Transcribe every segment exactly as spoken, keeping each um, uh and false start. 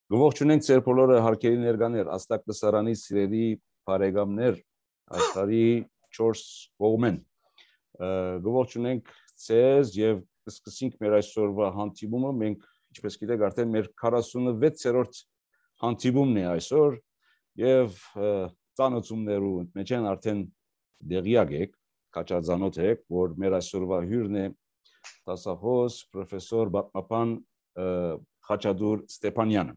Գողջունենք ձեր բոլորը հարկերի ներկաներ, աստակ լսարանի սիրելի բարեկամներ, աշխարհի չորս կողմեն։ Գողջունենք ձեզ եւ կսկսենք մեր այսօրվա հանդիպումը, մենք ինչպես գիտեք արդեն մեր քառասունվեցերորդ հանդիպումն է այսօր եւ ծանոթումներու մեջ են արդեն դեղյակ եք, քաչածանոթ եք, որ մեր այսօրվա հյուրն է դասախոս պրոֆեսոր պատմաբան Խաչատուր Ստեփանյանը։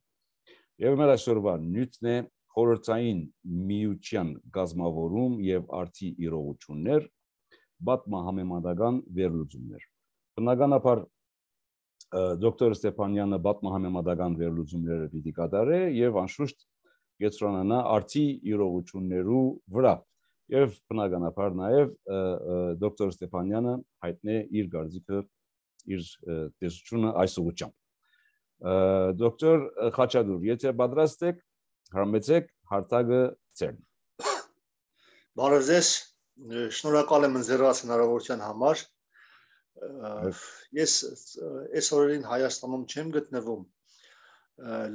Եվ մեր այսօրվա նյութն է խորհրդային միության գազམավորում եւ արդի իրողություններ, պատմահամեմատական վերլուծումներ։ Բնականաբար դոկտոր Ստեփանյանը պատմահամեմատական վերլուծումները պիտի կատարե եւ անշուշտ կենտրոնանա արդի իրողություններու վրա։ Եվ բնականաբար նաեւ դոկտոր Ստեփանյանը հայտնի իր գարձիկը, իր տեսությունը այս ուղղությամբ։ Դոկտոր Խաչատուր, եթե պատրաստ եք, հարմեցեք հարթակը ձերն։ Բարև ձեզ, շնորհակալ եմ ընձեռած հնարավորության համար։ Ես այս օրերին Հայաստանում չեմ գտնվում,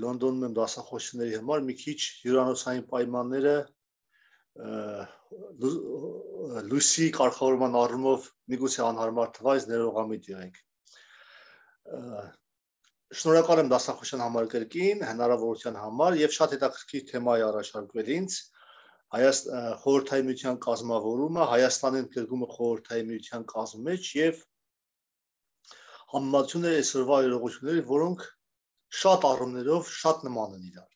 Լոնդոնում եմ դասախոսությունների համար, մի քիչ հյուրանոցային պայմանները լույսի կարգավորման առումով միգուցե անհարմար թվա, այս ներողամիտ եղեք։ Շնորհակալ եմ դասախոսության համար կրկին, հնարավորության համար եւ շատ հետաքրքիր թեմա է առաջարկվել ինձ։ Խորհրդային միության կազմավորումը, Հայաստանի ընդգրկումը խորհրդային միության կազմի մեջ եւ համեմատությունները այսօրվա իրողությունների, որոնք շատ առումներով շատ նման են իրար։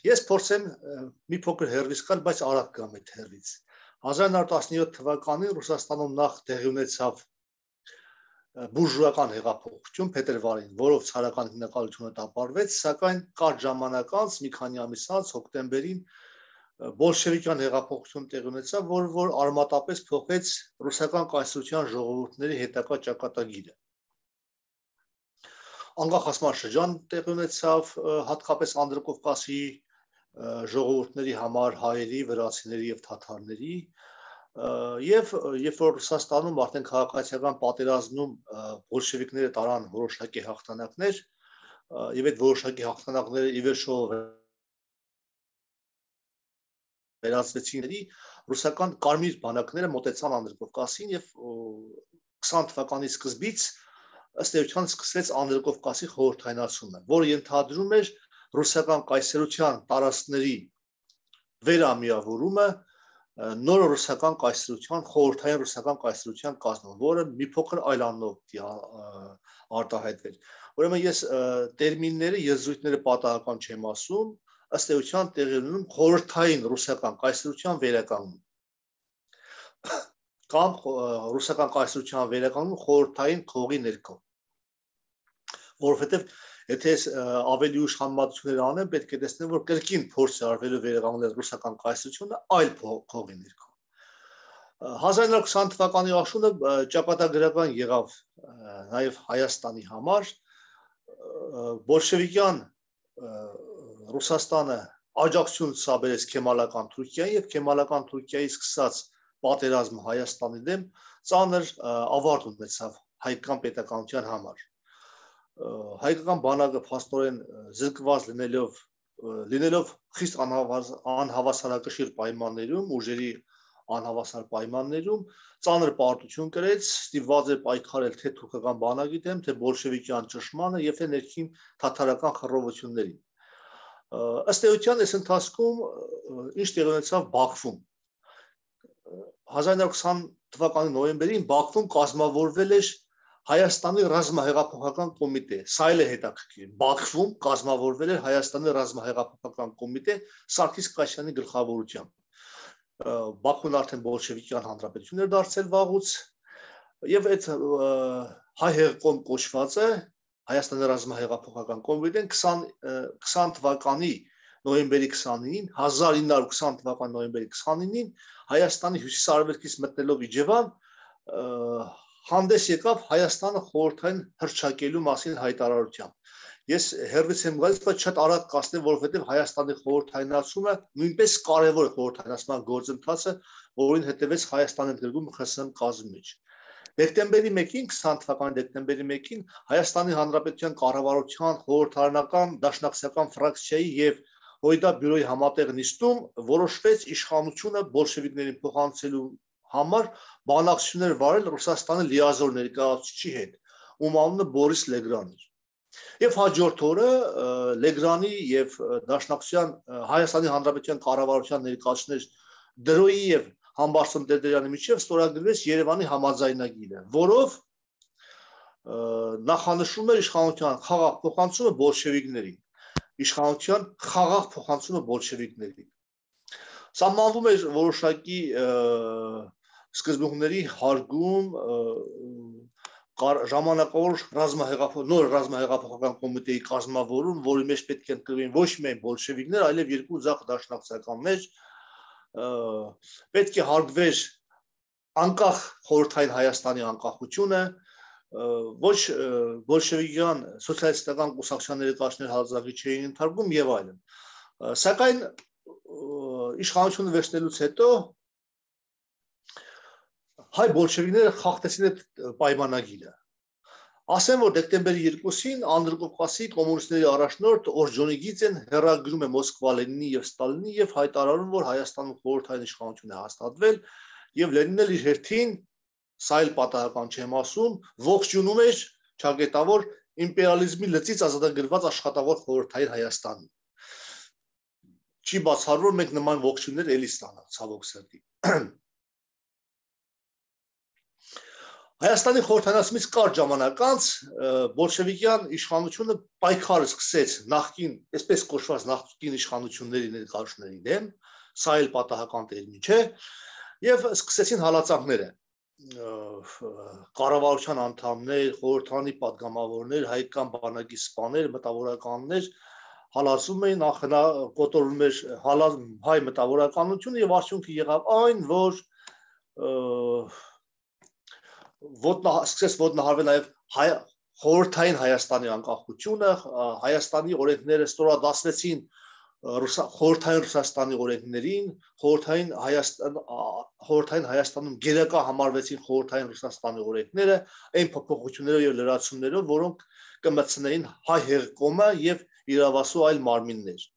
Ես փորձեմ մի փոքր հեռվից գալ, բայց արագ գամ այդ հեռվից։ հազար նույն հարյուր տասնյոթ թվականին Ռուսաստանում նախ տեղի ունեցավ բուրժուական հեղափոխություն փետրվարին, որով ցարական հիմնակալությունը տապալվեց, սակայն կարճ ժամանակ անց, մի քանի ամիս անց, հոկտեմբերին բոլշևիկյան հեղափոխություն տեղի ունեցավ, որ որ արմատապես փոխեց ռուսական կայսրության ժողովուրդների հետագա ճակատագիրը։ Անկախացման շրջան տեղի ունեցավ հատկապես Անդրկովկասի ժողովուրդների համար, հայերի, վրացիների եւ թաթարների, եւ երբ որ Ռուսաստանում արդեն քաղաքացիական պատերազմում բոլշևիկները տարան որոշակի հաղթանակներ եւ այդ որոշակի հաղթանակները ի վերջո վերածվեցին ռուսական կարմիր բանակները մոտեցան Անդրկովկասին եւ քսան թվականի սկզբից ըստ էության սկսվեց Անդրկովկասի խորհրդայնացումը, որը ենթադրում էր ռուսական կայսրության տարածքների վերամիավորումը նոր ռուսական կայսրության, խորհրդային ռուսական կայսրության կազմում, որը մի փոքր այլ անունով արտահայտվել։ Ուրեմն ես տերմինները, եզրույթները պատահական չեմ ասում, ըստ էության տեղի ունենում խորհրդային ռուսական կայսրության վերականգնում կամ ռուսական կայսրության վերականգնում խորհրդային խողի ներքո։ Որովհետև եթե ավելի ուշ համեմատություններ անեմ, պետք է տեսնեմ, որ կրկին փորձ է արվելու վերականգնել ռուսական կայսրությունը այլ խողի ներքո։ հազար նույն հարյուր քսան թվականի աշունը ճակատագրական եղավ նաև Հայաստանի համար, բոլշևիկյան Ռուսաստանը աջակցություն ցուցաբերեց Քեմալական Թուրքիային եւ Քեմալական Թուրքիայի սկսած պատերազմը Հայաստանի դեմ ծանր ավարտ ունեցավ հայկական պետականության համար։ Հայկական բանակը փաստորեն զրկված լինելով լինելով խիստ անհավասարակշիռ պայմաններում, ուժերի անհավասար պայմաններում ծանր պարտություն կրեց, ստիպված էր պայքարել թե թուրքական բանակի դեմ, թե բոլշևիկյան ճշմարանը եւ թե ներքին թաթարական խռովություններին։ Ըստ էության այս ընթացքում ինչ տեղի ունեցավ Բաքվում։ հազար նույն հարյուր քսան թվականի նոյեմբերին Բաքվում կազմավորվել էր Հայաստանի ռազմահեղափոխական կոմիտե, սա էլ է հետաքրքիր։ Բաքվում կազմավորվել էր Հայաստանի ռազմահեղափոխական կոմիտե Սարգիս Կայսյանի գլխավորությամբ։ Բաքուն արդեն բոլշևիկյան հանրապետություն էր դարձել վաղուց, եւ այդ հայ հեղկոմ կոչվածը Հայաստանի ռազմահեղափոխական կոմիտեն քսան թվականի նոյեմբերի քսանինին, հազար ինը հարյուր քսան թվականի նոյեմբերի քսանինին Հայաստանի հյուսիսարևելքից մտնելով Իջևան հանդես եկավ Հայաստանը խորհրդային հռչակելու մասին հայտարարությամբ։ Ես հերվից եմ գալիս, բայց շատ արագ կասնեմ, որովհետև Հայաստանի խորհրդայնացումը նույնպես կարևոր է խորհրդայնացման գործընթացը, որին հետևեց Հայաստանի ընդգրկումը ԽՍՀՄ կազմի մեջ։ Դեկտեմբերի մեկին, քսան թվականի դեկտեմբերի մեկին Հայաստանի Հանրապետության կառավարության խորհրդարանական դաշնակցական ֆրակցիայի եւ Հույդա բյուրոյի համատեղ նիստում որոշվեց իշխանությունը բոլշևիկներին փոխանցելու համար բանակցություններ վարել Ռուսաստանի լիազոր ներկայացուցիչի հետ, ում անունը Բորիս Լեգրան էր։ Եվ հաջորդ օրը Լեգրանի եւ Դաշնակցության Հայաստանի Հանրապետության կառավարության ներկայացուցիչներ Դրոյի եւ Համբարձում Տերտերյանի միջև ստորագրվեց Երևանի համաձայնագիրը, որով նախանշում էր իշխանության խաղաղ փոխանցումը բոլշևիկներին, իշխանության խաղաղ փոխանցումը բոլշևիկներին։ Սահմանվում էր որոշակի սկզբունքների հարգում, ժամանակավոր ռազմահեղափոխ նոր ռազմահեղափոխական կոմիտեի կազմավորում, որի մեջ պետք է ընտրվեին ոչ միայն բոլշևիկներ, այլև երկու ձախ դաշնակցականներ, պետք է հարգվեր անկախ խորհրդային Հայաստանի անկախությունը, ոչ բոլշևիկյան սոցիալիստական կուսակցության ներկայացուցիչներ հալածակի չէին ընդհարգում եւ այլն։ Սակայն իշխանությունը վերցնելուց հետո հայ բոլշևիկները խախտեցին այդ պայմանագիրը։ Ասեմ, որ դեկտեմբերի երկուսին Անդրկովկասի կոմունիստների առաջնորդ Օրջոնիգիձեն հեռագրում է Մոսկվա Լենինի եւ Ստալինի եւ հայտարարում, որ Հայաստանում խորհրդային իշխանություն է հաստատվել եւ Լենինն էլ իր հերթին, սա էլ պատահական չեմ ասում, ողջունում էր ճակատավոր իմպերիալիզմի լծից ազատագրված աշխատավոր խորհրդային Հայաստանին։ Չի բացառվում, մենք նման ողջույններ էլի ստանանք, ցավոք սրտի։ Հայաստանի խորհրդանացումից կարճ ժամանակ անց բոլշևիկյան իշխանությունը պայքարը սկսեց նախկին, այսպես կոչված նախկին իշխանությունների ներկայացուցիչների դեմ, սա էլ պատահական տերմին չէ, եւ սկսեցին հալածանքները։ Կառավարության անդամներ, խորհրդանի падգամավորներ, հայկական բանակի սպաներ, մտավորականներ հալածում էին, նախնա կոտորում էր հայ մտավորականությունը եւ արդյունքը եղավ այն, որ ոտնա սկսեց ոտնահարվել նաև խորհրդային Հայաստանի անկախությունը, Հայաստանի օրենքները ստորադասվեցին խորհրդային Ռուսաստանի օրենքներին, խորհրդային Հայաստան խորհրդային Հայաստանում գերակա համարվեցին խորհրդային Ռուսաստանի օրենքները, այն փոփոխություններով եւ լրացումներով, որոնք կմտցնեին հայ հեղկոմը եւ իրավասու այլ մարմիններ։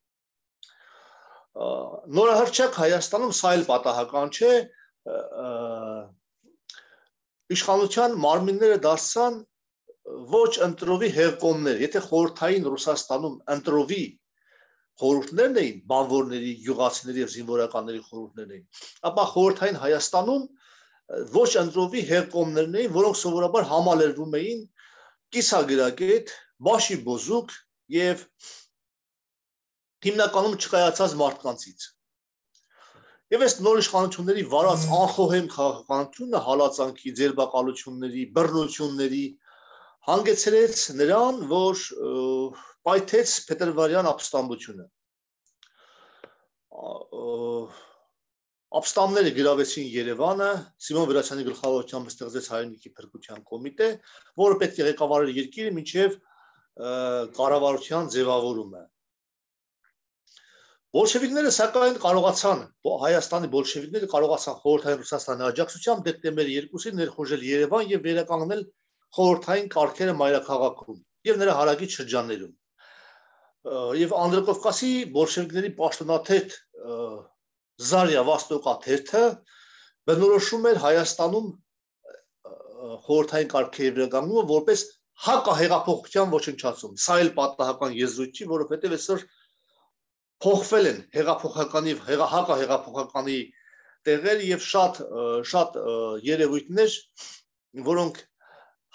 Նորահրճակ Հայաստանում սա էլ պատահական չէ, իշխանության մարմինները դարձան ոչ ընտրովի հեղկոմներ, եթե խորհրդային Ռուսաստանում ընտրովի խորհուրդներն էին, բանվորների, յուղացիների եւ զինվորականների խորհուրդներն էին, ապա խորհրդային Հայաստանում ոչ ընտրովի հեղկոմներն էին, որոնք սովորաբար համալրվում էին կիսագրագետ, բաշի բոզուկ եւ հիմնականում չկայացած մարդկանցից։ Եվ այս նոր իշխանությունների վարած անխոհեմ քաղաքականությունը հալածանքի, ձերբակալությունների, բռնությունների հանգեցրեց նրան, որ պայթեց փետրվարյան ապստամբությունը։ Ապստամբները գրավեցին Երևանը, Սիմոն Վրացյանի գլխավորությամբ ստեղծեց հայրենիքի փրկության կոմիտե, որը պետք է ղեկավարեր երկիրը մինչև կառավարության ձևավորումը։ Բոլշևիկները սակայն կարողացան, Հայաստանի բոլշևիկները կարողացան խորհրդային Ռուսաստանի աջակցությամբ դեկտեմբերի երկուսին ներխուժել Երևան եւ վերականգնել խորհրդային կարգերը մայրաքաղաքում եւ նրա հարակից շրջաններում։ Եվ Անդրկովկասի բոլշևիկների պաշտոնաթերթ Զարիա Վաստոկա թերթը բնորոշում էր Հայաստանում խորհրդային կարգերի վերականգնումը որպես հակահեղափոխության ոչնչացում։ Սա էլ պատահական եզրույթ չի, որովհետեւ այսօր փոխվել են հեղափոխականի հակահեղափոխականի տեղերը եւ շատ շատ երևույթներ, որոնք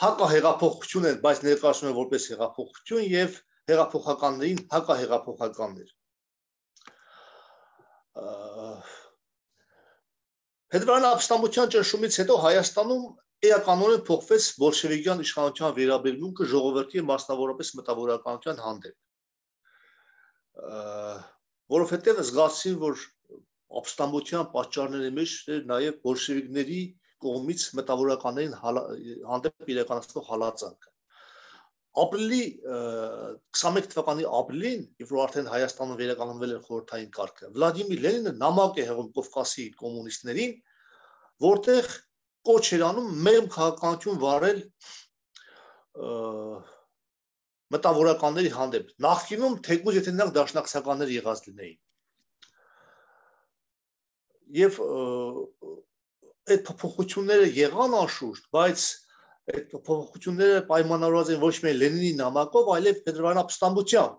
հակահեղափոխություն են, բայց ներկայացնում են որպես հեղափոխություն եւ հեղափոխականներին հակահեղափոխականներ։ Փետրվարյան ապստամբության ճնշումից հետո Հայաստանում էականորեն փոխվեց բոլշևիկյան իշխանության վերաբերմունքը ժողովրդի եւ մասնավորապես մտավորականության հանդեպ։ Որովհետև զգացին, որ ապստամբության պատճառների մեջ էր նաև բոլշևիկների կողմից մտավորականներին հանդեպ իրականացնող հալածանքը։ Ապրիլի քսանմեկ թվականի ապրիլին, երբ որ արդեն Հայաստանում վերականգնվել էր խորհրդային կարգը, Վլադիմիր Լենինը նամակ է հղում Կովկասի կոմունիստներին, որտեղ կոչ էր անում մեղմ քաղաքականություն վարել մտավորականների հանդեպ։ Նախկինում թեկուզ եթե նրանք դաշնակցականներ եղած լինեին։ Եվ այդ փոփոխությունները եղան անշուշտ, բայց այդ փոփոխությունները պայմանավորված են ոչ միայն Լենինի նամակով, այլև Փետրվարյան ապստամբությամբ,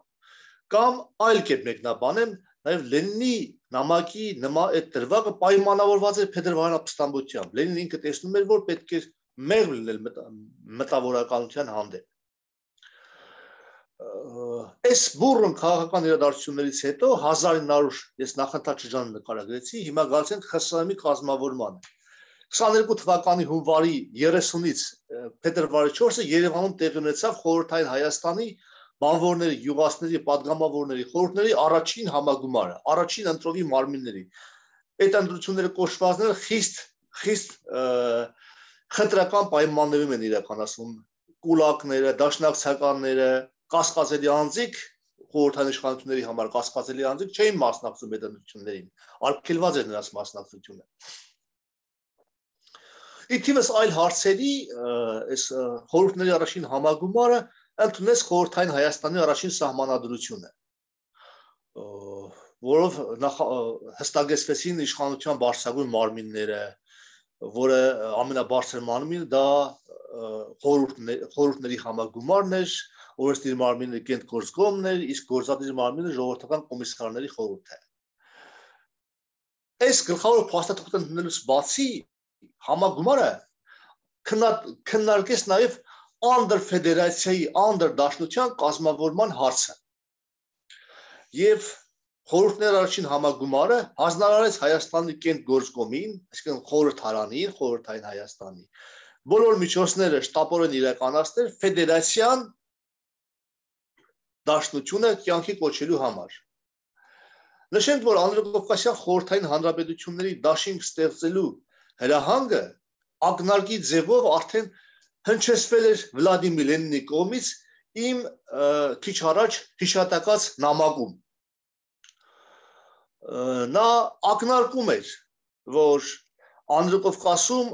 կամ այլ կերպ մեկնաբանեմ, նաև Լենինի նամակի այդ դրվագը պայմանավորված էր Փետրվարյան ապստամբությամբ։ Լենինն ինքը տեսնում էր, որ պետք է մեղմ լինել մտավորականության հանդեպ։ Այս բուռն քաղաքական իրադարձություններից հետո հազար ինը հարյուր ես նախընթաց շրջանը նկարագրեցի, հիմա գալիս ենք ԽՍՀՄ-ի կազմավորմանը։ քսաներկու թվականի հունվարի երեսունից փետրվարի չորսը Երևանում տեղի ունեցավ Խորհրդային Հայաստանի բանվորների, յուղացիների, падգամավորների խորհուրդների առաջին համագումարը, առաջին ընտրովի մարմինների։ Այդ ընտրությունները կոչվածները խիստ խիստ խտրական պայմաններում են իրականացվում։ Կուլակները, դաշնակցականները, կասկածելի անձիկ, խորհրդային իշխանությունների համար կասկածելի անձիկ չէին մասնակցում այդ ընտրություններին, արգելված էր նրանց մասնակցությունը։ Իթիվս այլ հարցերի այս խորհուրդների առաջին համագումարը ընդունեց Խորհրդային Հայաստանի առաջին սահմանադրությունը, որով հստակեցվեցին իշխանության բարձրագույն մարմինները, որը ամենաբարձր մարմինը դա խորհուրդների համագումարն էր, օրենսդիր մարմինը Կենտգործկոմն էր, իսկ գործադիր մարմինը ժողովրդական կոմիսարների խորհուրդը։ Այս գլխավոր փաստաթղթը ընդունելուց բացի համագումարը քննարկեց նաև անդրֆեդերացիայի, անդրդաշնության կազմավորման հարցը։ Եվ խորհուրդների առաջին համագումարը հանձնարարեց Հայաստանի Կենտգործկոմին, այսինքն խորհրդարանին, Խորհրդային Հայաստանի, բոլոր միջոցները շտապորեն իրականացնել ֆեդերացիան դաշնությունը կյանքի կոչելու համար։ Նշենք, որ Անդրկովկասյան խորհրդային հանրապետությունների դաշինք ստեղծելու հրահանգը ակնարկի ձևով արդեն հնչեցվել էր Վլադիմիր Լենինի կողմից իմ քիչ առաջ հիշատակած նամակում։ Նա ակնարկում էր, որ Անդրկովկասում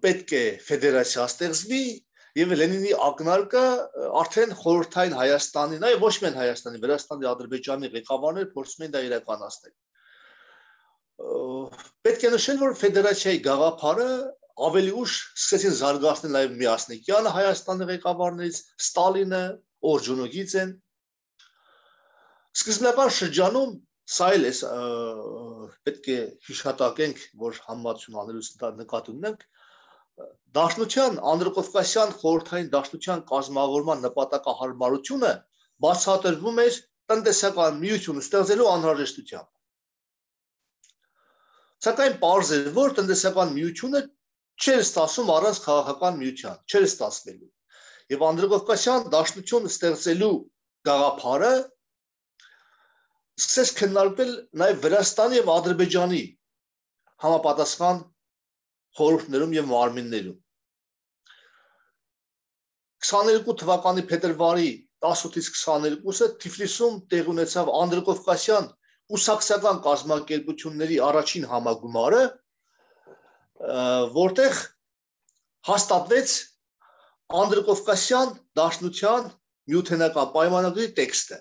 պետք է ֆեդերացիա ստեղծվի եւ Լենինի ակնարկը արդեն խորհրդային Հայաստանի, նաեւ ոչ միայն Հայաստանի, Վրաստանի, Ադրբեջանի ղեկավարները փորձում են դա իրականացնել։ Պետք է նշել, որ ֆեդերացիայի գաղափարը ավելի ուշ սկսեցին զարգացնել նաեւ Միասնիկյանը Հայաստանի ղեկավարներից, Ստալինը, Օրջունոգիցեն։ Սկզբնական շրջանում սա էլ է պետք է հիշատակենք, որ համեմատություն անելուց նկատի ունենք, Դաշնության Անդրկովկասյան խորհրդային դաշնության կազմավորման նպատակահարմարությունը բացատրվում էր տնտեսական միություն ստեղծելու անհրաժեշտությամբ։ Սակայն պարզ էր, որ տնտեսական միությունը չէր ստացվում առանց քաղաքական միության, չէր ստացվելու։ Եվ Անդրկովկասյան դաշնություն ստեղծելու գաղափարը սկսեց քննարկվել նաև Վրաստանի եւ Ադրբեջանի համապատասխան խորհուրդներում եւ մարմիններում։ քսաներկու թվականի փետրվարի տասնութից քսաներկուսը Թիֆլիսում տեղի ունեցավ Անդրկովկասյան կուսակցական կազմակերպությունների առաջին համագումարը, որտեղ հաստատվեց Անդրկովկասյան դաշնության միութենական պայմանագրի տեքստը։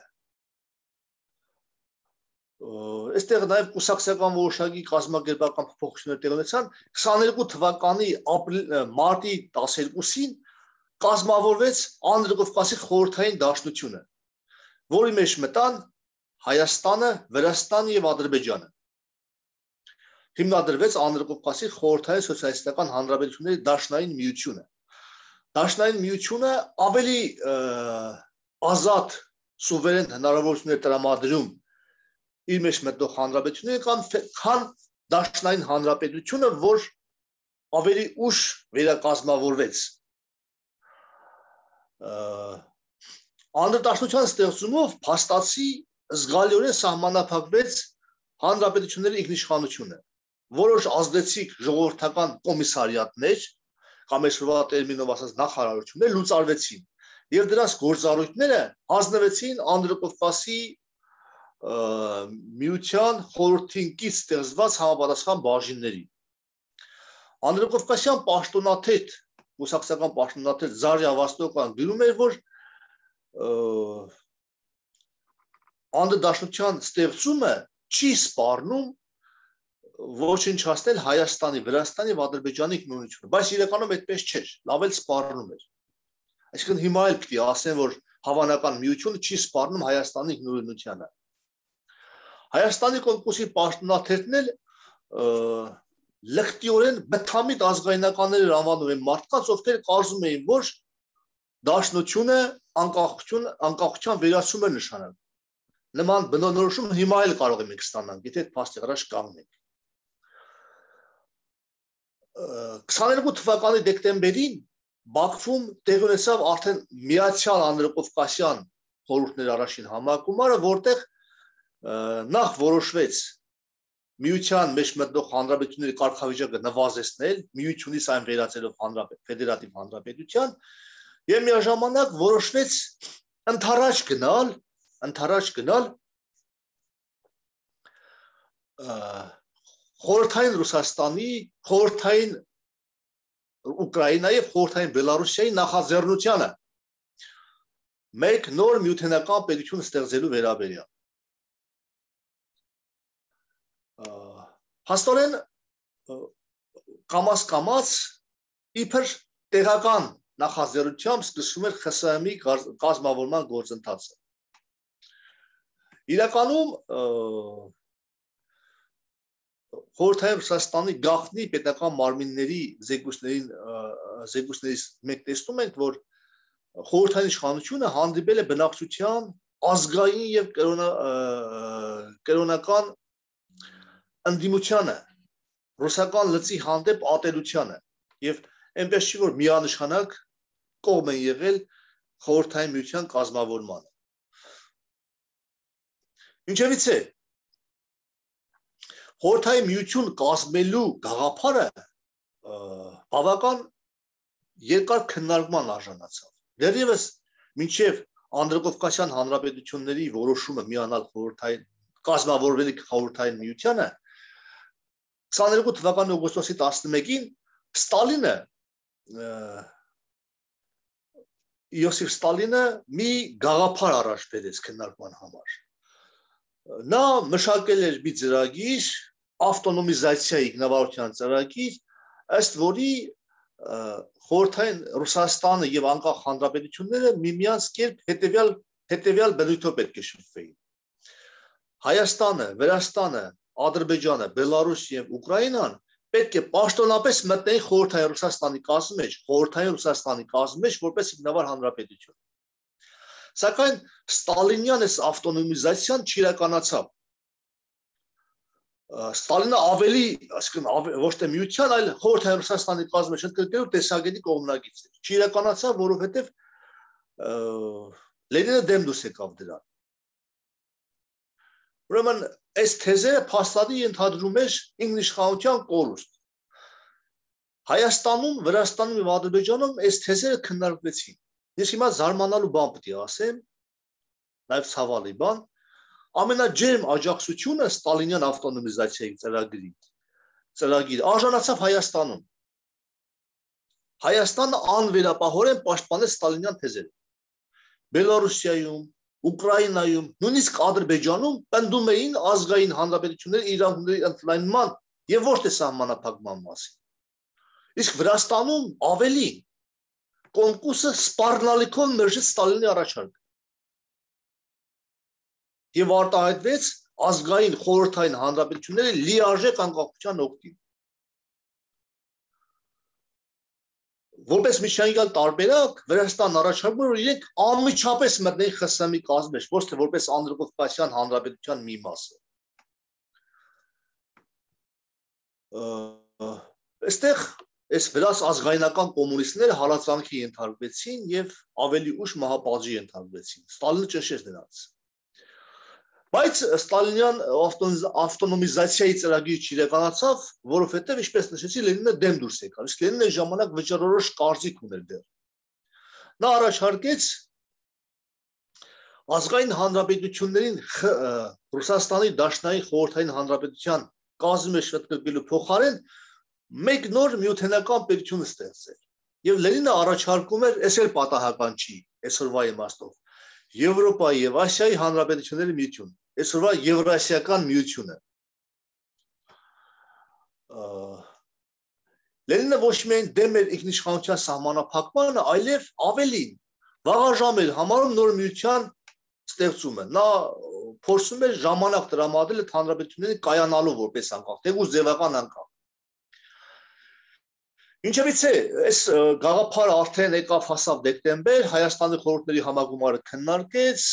Այստեղ նաև կուսակցական որոշակի կազմակերպական փոփոխություններ տեղի ունեցան քսաներկու թվականի մարտի տասներկուսին կազմավորվեց Անդրկովկասի խորհրդային դաշնությունը, որի մեջ մտան Հայաստանը, Վրաստանը եւ Ադրբեջանը։ Հիմնադրվեց Անդրկովկասի խորհրդային սոցիալիստական հանրապետությունների դաշնային միությունը։ Դաշնային միությունը ավելի ազատ սուվերեն հնարավորություններ տրամադրում իր մեջ մտնող հանրապետությունները կամ քան դաշնային հանրապետությունը, որ ավելի ուշ վերակազմավորվեց։ Անդրդաշնության ստեղծումով փաստացի զգալիորեն սահմանափակվեց հանրապետությունների ինքնիշխանությունը։ Որոշ ազդեցիկ ժողովրդական կոմիսարիատներ կամ այսօրվա տերմինով ասած նախարարություններ լուծարվեցին եւ դրանց գործառույթները հանձնվեցին Անդրկովկասի միության խորհրդին կից ստեղծված համապատասխան բաժինների։ Անդրկովկասյան պաշտոնաթեթ, կուսակցական պաշտոնաթեթ Զարյա Վաստոկյան գրում էր, որ անդրդաշնության ստեղծումը չի սպառնում ոչնչացնել Հայաստանի, Վրաստանի եւ Ադրբեջանի ինքնուրույնությունը, բայց իրականում այդպես չէր, լավ էլ սպառնում էր։ Այսինքն հիմա էլ պիտի ասեն, որ հավանական միությունը չի սպառնում Հայաստանի ինքնուրույնությանը։ Հայաստանի կոնկուրսի պաշտոնաթերթն էլ լկտիորեն բթամիտ ազգայնականներ անվանում են մարդկանց, ովքեր կարծում էին, որ դաշնությունը անկախություն, անկախության վերացում է նշանակում։ Նման բնորոշում հիմա էլ կարող ենք ստանալ, եթե այդ փաստի առաջ կանգնենք։ քսաներկու թվականի դեկտեմբերին Բաքվում տեղի ունեցավ արդեն Միացյալ Անդրկովկասյան խորհուրդների առաջին համակարգումարը, որտեղ նախ որոշվեց Միության մեջ մտնող հանրապետությունների կարգավիճակը նվազեցնել, միությունից այն վերածելով հանրապետ ֆեդերատիվ հանրապետության, եւ միաժամանակ որոշվեց ընդառաջ գնալ, ընդառաջ գնալ խորհրդային Ռուսաստանի, խորհրդային Ուկրաինայի եւ խորհրդային Բելարուսիայի նախաձեռնությանը մեկ նոր միութենական պետություն ստեղծելու վերաբերյալ։ Հաստորեն կամաց-կամաց իբր տեղական նախաձեռնությամբ սկսվում էր ԽՍՀՄ-ի կազմավորման գործընթացը։ Իրականում Խորհրդային Ռուսաստանի գաղտնի պետական մարմինների զեկույցներին զեկույցներից մենք տեսնում ենք, որ խորհրդային իշխանությունը հանդիպել է բնակչության ազգային եւ կրոնական ընդդիմությանը, ռուսական լծի հանդեպ ատելությանը եւ այնպես չի, որ միանշանակ կողմ են եղել խորհրդային միության կազմավորմանը։ Ինչևից է խորհրդային միություն կազմելու գաղափարը բավական երկար քննարկման արժանացավ։ Դեռևս մինչև Անդրկովկասյան հանրապետությունների որոշումը միանալ խորհրդային կազմավորվելու խորհրդային միությանը քսաներկու թվականի օգոստոսի տասնմեկին Ստալինը Իոսիֆ Ստալինը մի գաղափար առաջ բերեց քննարկման համար։ Նա մշակել էր մի ծրագիր, ավտոնոմիզացիայի ինքնավարության ծրագիր, ըստ որի խորհրդային Ռուսաստանը եւ անկախ հանրապետությունները միմյանց կերպ հետեւյալ հետեւյալ բնույթով պետք է շփվեին։ Հայաստանը, Վրաստանը, Ադրբեջանը, Բելարուսը եւ Ուկրաինան պետք է պաշտոնապես մտնեին խորհրդային Ռուսաստանի կազմի մեջ, խորհրդային Ռուսաստանի կազմի մեջ որպես ինքնավար հանրապետություն։ Սակայն Ստալինյան այս ավտոնոմիզացիան չիրականացավ։ Ստալինը ավելի, այսինքն ոչ թե միության, այլ խորհրդային Ռուսաստանի կազմի մեջ ընդգրկելու տեսակետի կողմնակից էր։ Չիրականացավ, որովհետև Լենինը դեմ դուրս եկավ դրան։ Ուրեմն այս թեզերը փաստադի ենթադրում էր ինքնիշխանության կորուստ։ Հայաստանում, Վրաստանում եւ Ադրբեջանում այս թեզերը քննարկվեցին։ Ես հիմա զարմանալու բան պետք է ասեմ, նաեւ ցավալի բան, ամենաջերմ աջակցությունը Ստալինյան ավտոնոմիզացիայի ծրագրի ծրագիր արժանացավ Հայաստանում։ Հայաստանը անվերապահորեն պաշտպանեց Ստալինյան թեզերը։ Բելարուսիայում, Ուկրաինայում, նույնիսկ Ադրբեջանում պնդում էին ազգային հանրապետությունների իրավունքների ընդլայնման եւ ոչ թե սահմանափակման մասին։ Իսկ Վրաստանում ավելի կոնկուրսը սպառնալիքով մերժեց Ստալինի առաջարկը եւ արտահայտվեց ազգային խորհրդային հանրապետությունների լիարժեք անկախության օգտին։ Որպես միջանկյալ տարբերակ Վրաստանն առաջարկում էր իրենք անմիջապես մտնեին ԽՍՀՄ-ի կազմի մեջ, ոչ թե որպես Անդրկովկասյան հանրապետության մի մասը։ Այստեղ այս վրաց ազգայնական կոմունիստները հալածանքի ենթարկվեցին եւ ավելի ուշ մահապատժի ենթարկվեցին։ Ստալինը ճնշեց նրանց։ Բայց Ստալինյան ավտոնոմիզացիայի ծրագիրը չիրականացավ, որովհետև ինչպես նշեցի, Լենինը դեմ դուրս եկավ, իսկ Լենինը այն ժամանակ վճռորոշ կարծիք ուներ դեռ։ Նա առաջարկեց ազգային հանրապետություններին Ռուսաստանի Դաշնային խորհրդային հանրապետության կազմի մեջ ընդգրկելու փոխարեն մեկ նոր միութենական պետություն ստեղծել։ Եվ Լենինը առաջարկում էր, այս էլ պատահական չի, այսօրվա իմաստով, Եվրոպայի եւ Ասիայի հանրապետությունների միություն, այսօրվա Եվրասիական միությունը։ Լենինը ոչ միայն դեմ էր ինքնիշխանության սահմանափակմանը, այլև ավելին վաղաժամ էր համարում նոր միության ստեղծումը։ Նա փորձում էր ժամանակ տրամադրել այդ հանրապետությունների կայանալու որպես անկախ, թեկուզ ձևական անկախ։ Ինչևից է, այս գաղափարը արդեն եկավ հասավ դեկտեմբեր, Հայաստանի խորհուրդների համագումարը քննարկեց,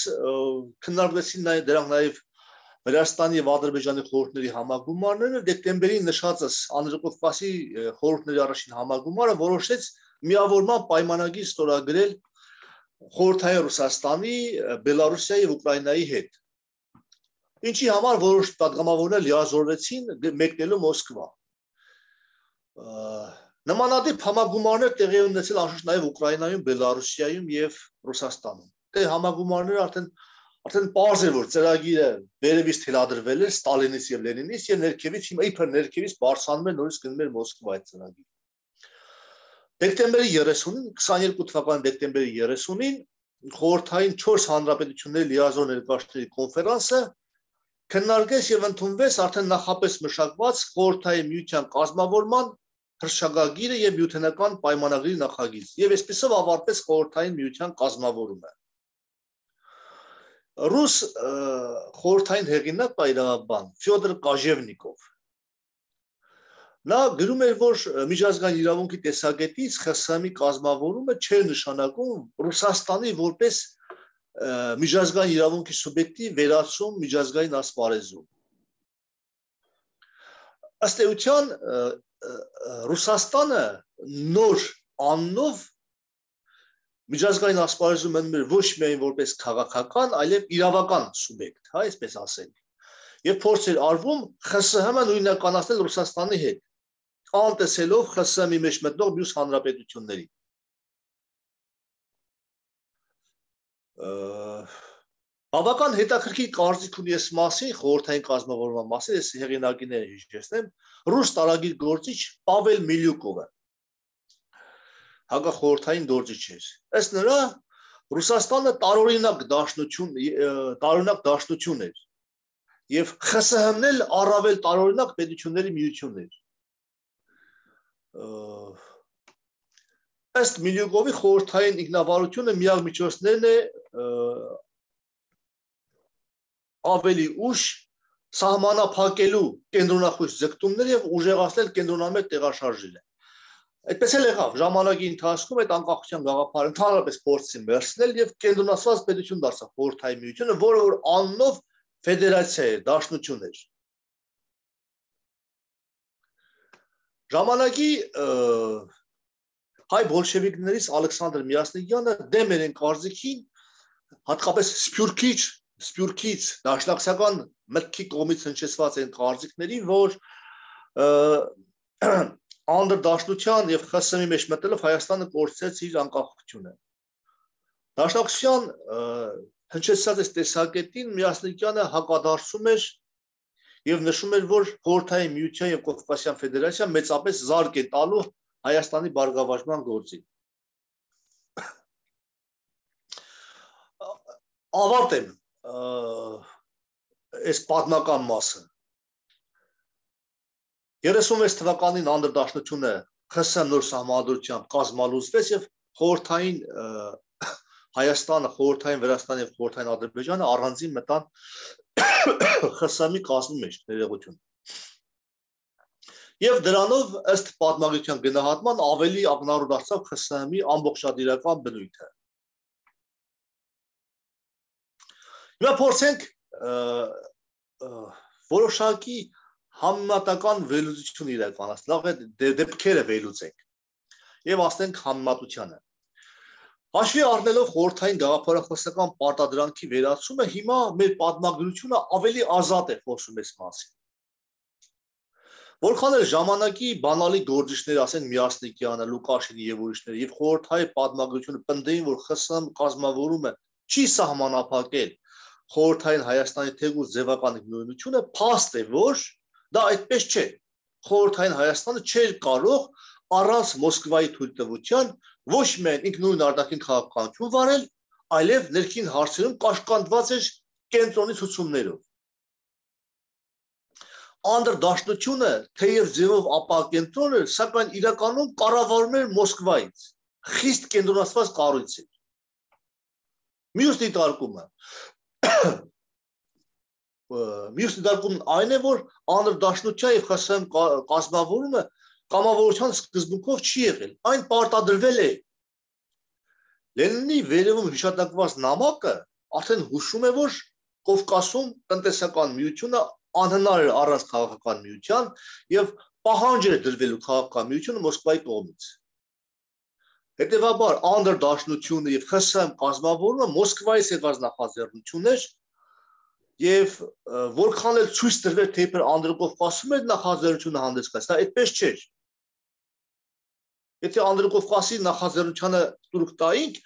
քննարկվեցին նաև դրանք նաև Վրաստանի եւ Ադրբեջանի խորհուրդների համագումարները, դեկտեմբերին նշածս Անդրկովկասի խորհուրդների առաջին համագումարը որոշեց միավորման պայմանագիր ստորագրել խորհրդային Ռուսաստանի, Բելարուսիայի եւ Ուկրաինայի հետ։ Ինչի համար որոշ պատգամավորներ լիազորվեցին մեկնելու Մոսկվա։ Նմանատիպ համագումարներ տեղի ունեցել անշուշտ նաև Ուկրաինայում, Բելարուսիայում եւ Ռուսաստանում։ Դե համագումարները արդեն արդեն պարզ էր, որ ծրագիրը վերևից թելադրվել էր Ստալինից եւ Լենինից եւ ներքևից հիմա իբր ներքևից բարձրանում էր նորից գնում էր Մոսկվա այդ ծրագիրը։ Դեկտեմբերի երեսունին, քսաներկու թվականի դեկտեմբերի երեսունին խորհրդային չորս հանրապետությունների լիազոր ներկայացուցիչների կոնֆերանսը քննարկեց եւ ընդունվեց արդեն նախապես մշակված խորհրդային միության կազմավորման հրշագագիրը եւ միութենական պայմանագրի նախագիծ եւ այսպեսով ավարտվեց խորհրդային միության կազմավորումը։ Ռուս խորհրդային հեղինակ պայմանաբան Ֆյոդոր Կաժևնիկով նա գրում էր, որ միջազգային իրավունքի տեսակետից ԽՍՀՄ-ի կազմավորումը չէր նշանակում Ռուսաստանի որպես միջազգային իրավունքի սուբյեկտի վերացում միջազգային ասպարեզում։ Ըստ էության Ռուսաստանը նոր աննով միջազգային ասպարեզում մնում էր ոչ միայն որպես քաղաքական, այլև իրավական սուբյեկտ, հա, այսպես ասել։ Եվ փորձ էր արվում ԽՍՀՄ-ը նույնականացնել Ռուսաստանի հետ, անտեսելով ԽՍՀՄ-ի մեջ մտնող մյուս հանրապետությունների։ Բավական հետաքրքիր կարծիք ունի այս մասին, խորհրդային կազմավորման մասին, այս հեղինակիները հիշեցնեմ, ռուս տարագիր գործիչ Պավել Միլյուկովը, հակախորհրդային գործիչ էր։ Ըստ նրա, Ռուսաստանը տարօրինակ դաշնություն, տարօրինակ դաշնություն էր, եւ ԽՍՀՄ-ն էլ առավել տարօրինակ պետությունների միություն էր։ Ըստ Միլյուկովի խորհրդային ինքնավարությունը միակ միջոցներն է ավելի ուշ սահմանափակելու կենտրոնախույս ձգտումները եւ ուժեղացնել կենտրոնամետ տեղաշարժերը։ Այդպես էլ եղավ, ժամանակի ընթացքում այդ անկախության գաղափարը ընդհանրապես փորձեցին վերցնել եւ կենտրոնացված պետություն դարձավ խորհրդային միությունը, որը որ անունով ֆեդերացիա է, դաշնություն էր։ Ժամանակի հայ բոլշևիկներից Ալեքսանդր Միասնիկյանը դեմ էր այն կարծիքին, հատկապես Սփյուռքից, Սփյուռքից դաշնակցական մտքի կողմից հնչեցված այն կարծիքներին, որ անդրդաշնության եւ ԽՍՀՄ-ի մեջ մտնելով Հայաստանը կորցրեց իր անկախությունը։ Դաշնակցության հնչեցած այս տեսակետին Միասնիկյանը հակադարձում էր եւ նշում էր, որ խորհրդային միության եւ Կովկասյան ֆեդերացիան մեծապես զարգ է տալու Հայաստանի բարգավաճման գործին։ Ավարտեմ այս պատմական մասը։ երեսունվեց թվականին անդրդաշնությունը ԽՍՀՄ նոր սահմանադրությամբ կազմալուծվեց եւ խորհրդային Հայաստանը, խորհրդային Վրաստանը եւ խորհրդային Ադրբեջանը առանձին մտան ԽՍՀՄ-ի կազմի մեջ ներողություն։ Եվ դրանով ըստ պատմագրության գնահատման ավելի ակնառու դարձավ ԽՍՀՄ-ի ամբողջատիրական բնույթը։ Հիմա փորձենք որոշակի համեմատական վերլուծություն իրականացնել, լավ է դեպքերը վերլուծենք եւ ասենք համեմատությանը։ Հաշվի առնելով խորհրդային գաղափարախոսական պարտադրանքի վերացումը, հիմա մեր պատմագրությունը ավելի ազատ է խոսում այս մասին։ Որքան էլ ժամանակի բանալի գործիչներ, ասենք Միասնիկյանը, Լուկաշինը եւ ուրիշները, եւ խորհրդային պատմագրությունը պնդեին, որ ԽՍՀՄ կազմավորումը չի սահմանափակել խորհրդային Հայաստանի թեկուզ ձևական նույնությունը, փաստ է, որ դա այդպես չէ։ խորհրդային Հայաստանը չէր կարող առանց Մոսկվայի թույլտվության ոչ միայն ինքնուրույն արտաքին քաղաքականություն վարել, այլև ներքին հարցերում կաշկանդված էր կենտրոնի ցուցումներով։ Անդրդաշնությունը թեև ձևով ապակենտրոն էր, սակայն իրականում կառավարում էր Մոսկվայից, խիստ կենտրոնացված կառույց էր։ Մյուս դիտարկումը Մյուս դիտարկումն այն է, որ անդրդաշնության եւ ԽՍՀՄ կազմավորումը կամավորության սկզբունքով չի եղել, այն պարտադրվել է։ Լենինի վերևում հիշատակված նամակը արդեն հուշում է, որ Կովկասում տնտեսական միությունը անհնար էր առանց քաղաքական միության եւ պահանջ էր դրվելու քաղաքական միությունը Մոսկվայի կողմից։ Հետևաբար անդրդաշնությունը եւ ԽՍՀՄ կազմավորումը Մոսկվայից եկած նախաձեռնություն էր եւ որքան էլ ցույց տրվեր թե իբր Անդրկովկասում էր նախաձեռնությունը հանդես գալիս, դա այդպես չէր։ Եթե Անդրկովկասի նախաձեռնությանը տուրք տայինք,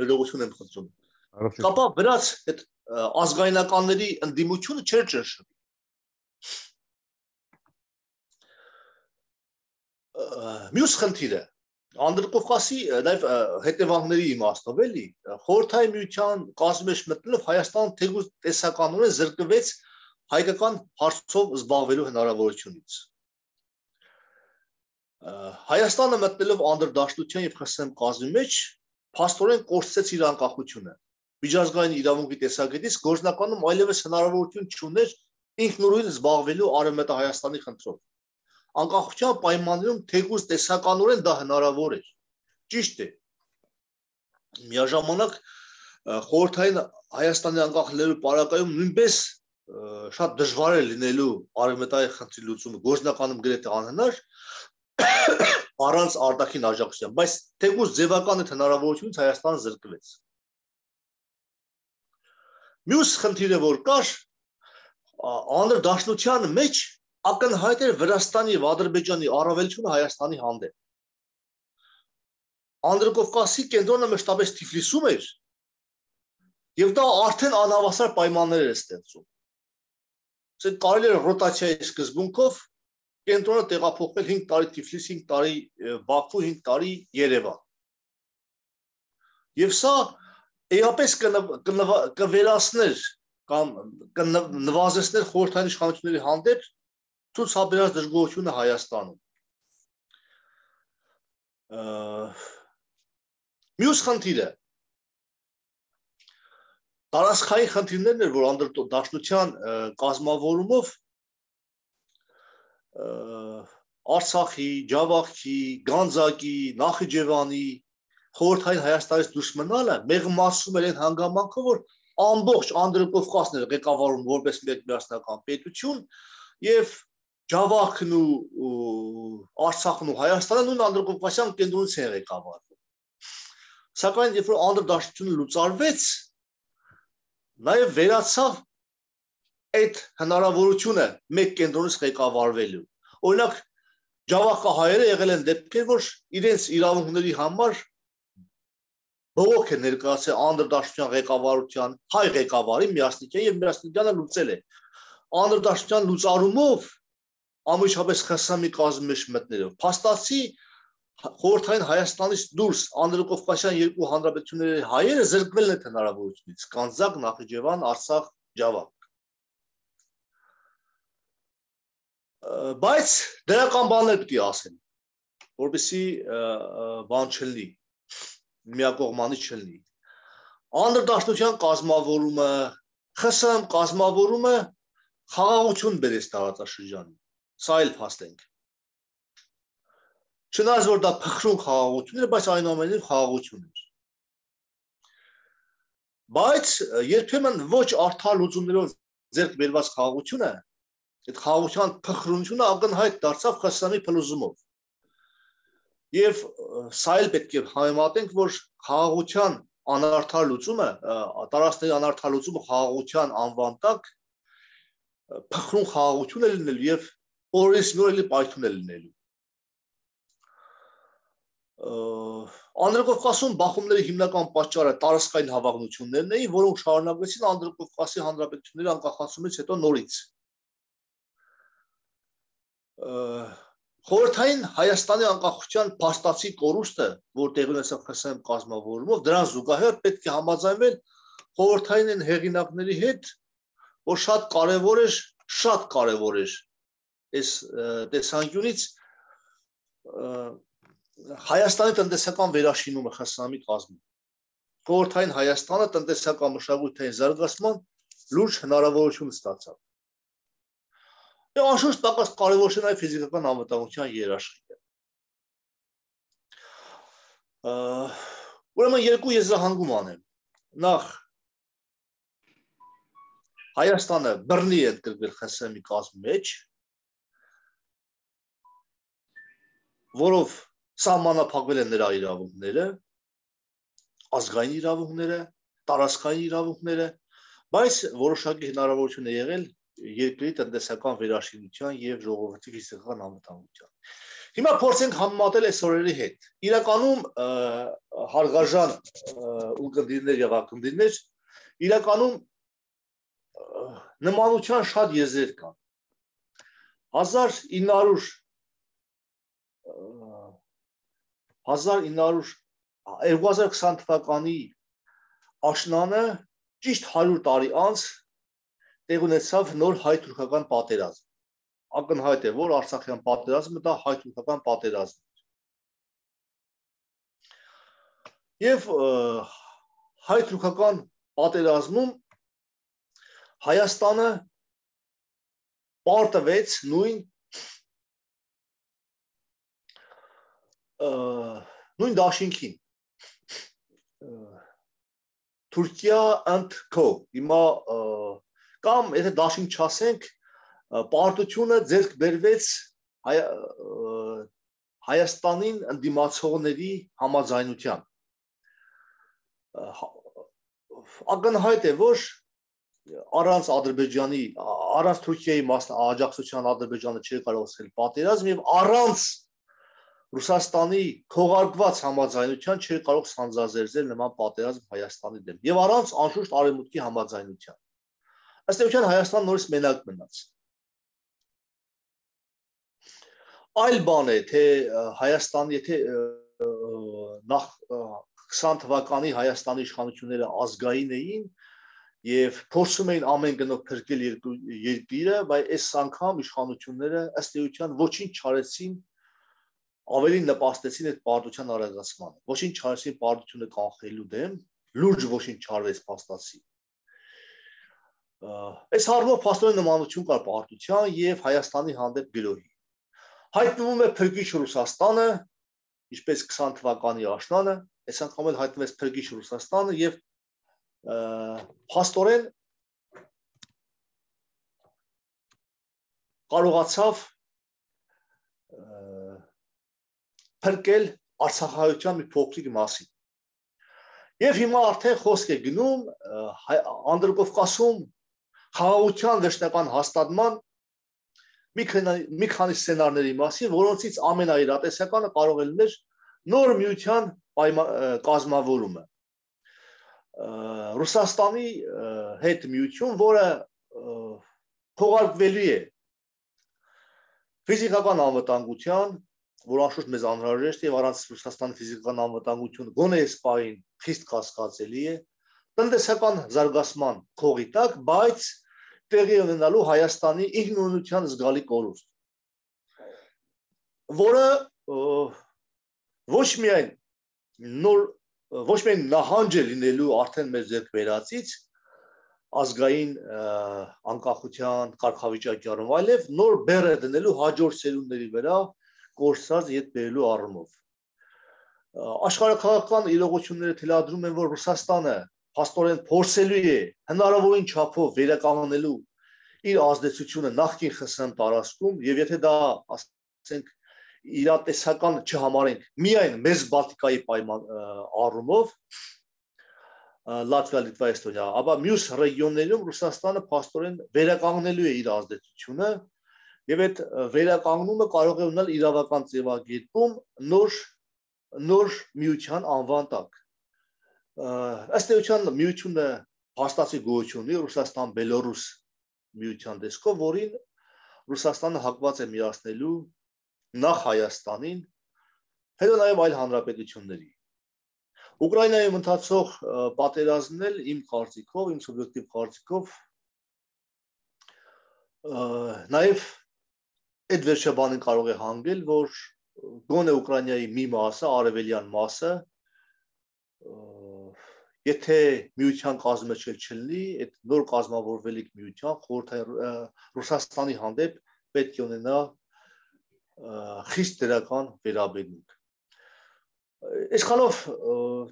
լրողություն եմ խնդրում, ապա վրաց այդ ազգայնականների ընդդիմությունը չէր ճնշվի։ Մյուս խնդիրը Անդրկովկասի նաև հետևանքների իմաստով էլի, խորհրդային միության կազմի մեջ մտնելով Հայաստանը թեկուզ տեսականորեն զրկվեց հայկական հարցով զբաղվելու հնարավորությունից։ Հայաստանը մտնելով անդրդաշնության եւ ԽՍՀՄ կազմի մեջ փաստորեն կորցրեց իր անկախությունը։ Միջազգային իրավունքի տեսակետից գործնականում այլևս հնարավորություն չուներ ինքնուրույն զբաղվելու Արևմտահայաստանի խնդրով։ Անկախության պայմաններում թեկուզ տեսականորեն դա հնարավոր էր։ Ճիշտ է։ Միաժամանակ խորհրդային Հայաստանի անկախնելու պարագայում նույնպես շատ դժվար է լինելու Արևմտայի խնդրի լուծումը, գործնականում գրեթե անհնար առանց արտաքին աջակցության, բայց թեկուզ ձևական այդ հնարավորությունից Հայաստանը զրկվեց։ Մյուս խնդիրը որ կար, անդրդաշնության մեջ ակնհայտ էր Վրաստանի եւ Ադրբեջանի առավելությունը Հայաստանի հանդեպ։ Անդրկովկասի կենտրոնը մշտապես Թիֆլիսում էր եւ դա արդեն անհավասար պայմաններ էր ստեղծում։ Ասենք կարելի է ռոտացիայի սկզբունքով կենտրոնը տեղափոխվել հինգ տարի Թիֆլիս, հինգ տարի Բաքու, հինգ տարի Երևան։ Եվ սա էապես կվերացներ կամ կնվազեցներ խորհրդային իշխանությունների հանդեպ ցուցաբերած դժգոհությունը Հայաստանում։ Մյուս խնդիրը տարածքային խնդիրներն էր, որ անդրդաշնության կազմավորումով Արցախի, Ջավախքի, Գանձակի, Նախիջևանի խորհրդային Հայաստանից դուրս մնալը մեղմացում էր այն հանգամանքը, որ ամբողջ Անդրկովկասն էր ղեկավարում որպես մեկ միասնական պետություն եւ Ջավախքն ու Արցախն ու Հայաստանը նույն Անդրկովկասյան կենտրոնից են ղեկավարվում։ Սակայն երբ որ անդրդաշնությունը լուծարվեց, նաեւ վերացավ այդ հնարավորությունը մեկ կենտրոնից ղեկավարվելու։ Օրինակ Ջավախահայերը եղել են դեպքեր, որ իրենց իրավունքների համար բողոք է ներկայացել անդրդաշնության ղեկավարության հայ ղեկավարի Միասնիկյան եւ Միասնիկյանը լուծել է։ Անդրդաշնության լուծարումով ամենաշատս ԽՍՀՄ-ի կազմի մեջ մտնելով փաստացի խորհրդային Հայաստանից դուրս Անդրկովկասյան երկու հանրապետությունների հայերը զրկվել են հնարավորությունից՝ Գանձակ, Նախիջևան, Արցախ, Ջավախ։ Բայց դրական բաներ պետք է ասեն, որպեսզի բան չլինի, միակողմանի չլինի։ Անդրդաշնության կազմավորումը, ԽՍՀՄ կազմավորումը խաղաղություն բերեց տարածաշրջանին, սա էլ փաստենք։ Չնայած որ դա փխրուն խաղաղություն էր, բայց այնուամենայնիվ խաղաղություն էր։ Բայց երբեմն ոչ արդար լուծումներով ձեռք բերված խաղաղությունը, այդ խաղաղության փխրունությունը ակնհայտ դարձավ ԽՍՀՄ-ի փլուզումով։ Եվ սա էլ պետք է համեմատենք, որ խաղաղության անարդար լուծումը, տարածքների անարդար լուծումը խաղաղության անվան տակ փխրուն խաղաղություն է լինելու եւ օրենսնորելի պայթուն է լինելու։ Անդրկովկասում բախումների հիմնական պատճառը տարածքային հավակնություններն էին, որոնք շարունակվեցին Անդրկովկասի հանրապետությունների անկախացումից հետո նորից։ Խորհրդային Հայաստանի անկախության փաստացի կորուստը, որ տեղի ունեցավ ԽՍՀՄ կազմավորումով, դրան զուգահեռ պետք է համաձայնվել խորհրդային են հեղինակների հետ, որ շատ կարևոր էր, շատ կարևոր էր այս տեսանկյունից Հայաստանի տնտեսական վերաշինումը ԽՍՀՄ-ի կազմում։ Խորհրդային Հայաստանը տնտեսական մշակութային զարգացման լուրջ հնարավորություն ստացավ։ Եվ անշուշտ պակաս կարևոր չէ նաև ֆիզիկական անվտանգության երաշխիքը։ Ուրեմն երկու եզրահանգում անեմ։ Նախ Հայաստանը բռնի է ընդգրկվել ԽՍՀՄ-ի կազմի մեջ, որով սահմանափակվել են նրա իրավունքները, ազգային իրավունքները, տարածքային իրավունքները, բայց որոշակի հնարավորություն է եղել երկրի տնտեսական վերաշինության եւ ժողովրդի ֆիզիկական անվտանգության։ Հիմա փորձենք համեմատել այս օրերի հետ։ Իրականում հարգարժան ունկնդիրներ եւ ակնդիրներ, իրականում նմանության շատ եզրեր կան։ հազար ինը հարյուր քսան թվականի աշնանը ճիշտ հարյուր տարի անց տեղ ունեցավ նոր հայ-թուրքական պատերազմ։ Ակնհայտ է, որ Արցախյան պատերազմը դա հայ-թուրքական պատերազմ էր։ Եվ հայ-թուրքական պատերազմում Հայաստանը պարտվեց նույն նույն դաշինքին։ Թուրքիա and Co. Հիմա կամ եթե դաշինք չասենք, պարտությունը ձեռք բերվեց Հայաստանին ընդդիմացողների համաձայնությամբ։ Ակնհայտ է, որ առանց Ադրբեջանի, առանց Թուրքիայի աջակցության Ադրբեջանը չէր կարող սկսել պատերազմ եւ առանց Ռուսաստանի քողարկված համաձայնության չէր կարող սանձազերծել նման պատերազմ Հայաստանի դեմ եւ առանց անշուշտ արևմուտքի համաձայնության։ Ըստ էության Հայաստանը նորից մենակ մնաց։ Այլ բան է, թե Հայաստան, եթե նախ քսան թվականի Հայաստանի իշխանությունները ազգային էին եւ փորձում էին ամեն գնով փրկել երկիրը, բայց այս անգամ իշխանությունները ըստ էության ոչինչ չարեցին, ավելի նպաստեցին այդ պարտության արագացմանը։ Ոչինչ չարեցին պարտությունը կանխելու դեմ, լուրջ ոչինչ չարվեց փաստացի։ Այս հարցով փաստորեն նմանություն կար պարտության եւ Հայաստանի հանդեպ գրոհի։ Հայտնվում է փրկիչ Ռուսաստանը, ինչպես քսան թվականի աշնանը, այս անգամ էլ հայտնվեց փրկիչ Ռուսաստանը եւ փաստորեն կարողացավ փրկել Արցախահայության մի փոքրիկ մասին։ Եվ հիմա արդեն խոսք է գնում Անդրկովկասում խաղաղության վերջնական հաստատման մի քանի սցենարների մասին, որոնցից ամենաիրատեսականը կարող է լինել նոր միության կազմավորումը։ Ռուսաստանի հետ միություն, որը թողարկվելու է ֆիզիկական անվտանգության, որ անշուշտ մեզ անհրաժեշտ է եւ առանց Ռուսաստանի ֆիզիկական անվտանգությունը գոնե այս պահին խիստ կասկածելի է, տնտեսական զարգացման քողի տակ, բայց տեղի ունենալու Հայաստանի ինքնուրույնության զգալի կորուստ, որը ոչ միայն նոր ոչ միայն նահանջ է լինելու արդեն մեր ձեռք բերածից ազգային անկախության կարգավիճակի առումով, այլև նոր բեռ է դնելու հաջորդ սերունդների վրա կորսած ետ բերելու առումով։ Աշխարհաքաղաքական իրողությունները թելադրում են, որ Ռուսաստանը փաստորեն փորձելու է հնարավորին չափով վերականգնելու իր ազդեցությունը նախկին ԽՍՀՄ տարածքում եւ եթե դա ասենք իրատեսական չհամարենք միայն մեծ Բալտիկայի պայման առումով Լատվիա, Լիտվա, Էստոնիա, ապա մյուս ռեգիոններում Ռուսաստանը փաստորեն վերականգնելու է իր ազդեցությունը եւ այդ վերականգնումը կարող է ունենալ իրավական ձևակերպում նոր նոր միության անվան տակ։ Ըստ էության միությունը հաստատի գոյություն ունի Ռուսաստան-Բելորուս միության տեսքով, որին Ռուսաստանը հակված է միացնելու նախ Հայաստանին, հետո նաև այլ հանրապետությունների։ Ուկրաինայում ընթացող պատերազմն էլ իմ կարծիքով, իմ սուբյեկտիվ կարծիքով նաև այդ վերջաբանին կարող է հանգել, որ գոնե Ուկրաինայի մի մասը, արևելյան մասը, եթե միության կազմը չլինի, այդ նոր կազմավորվելիք միության խորհրդային Ռուսաստանի հանդեպ պետք է ունենա խիստ դրական վերաբերմունք։ Այսքանով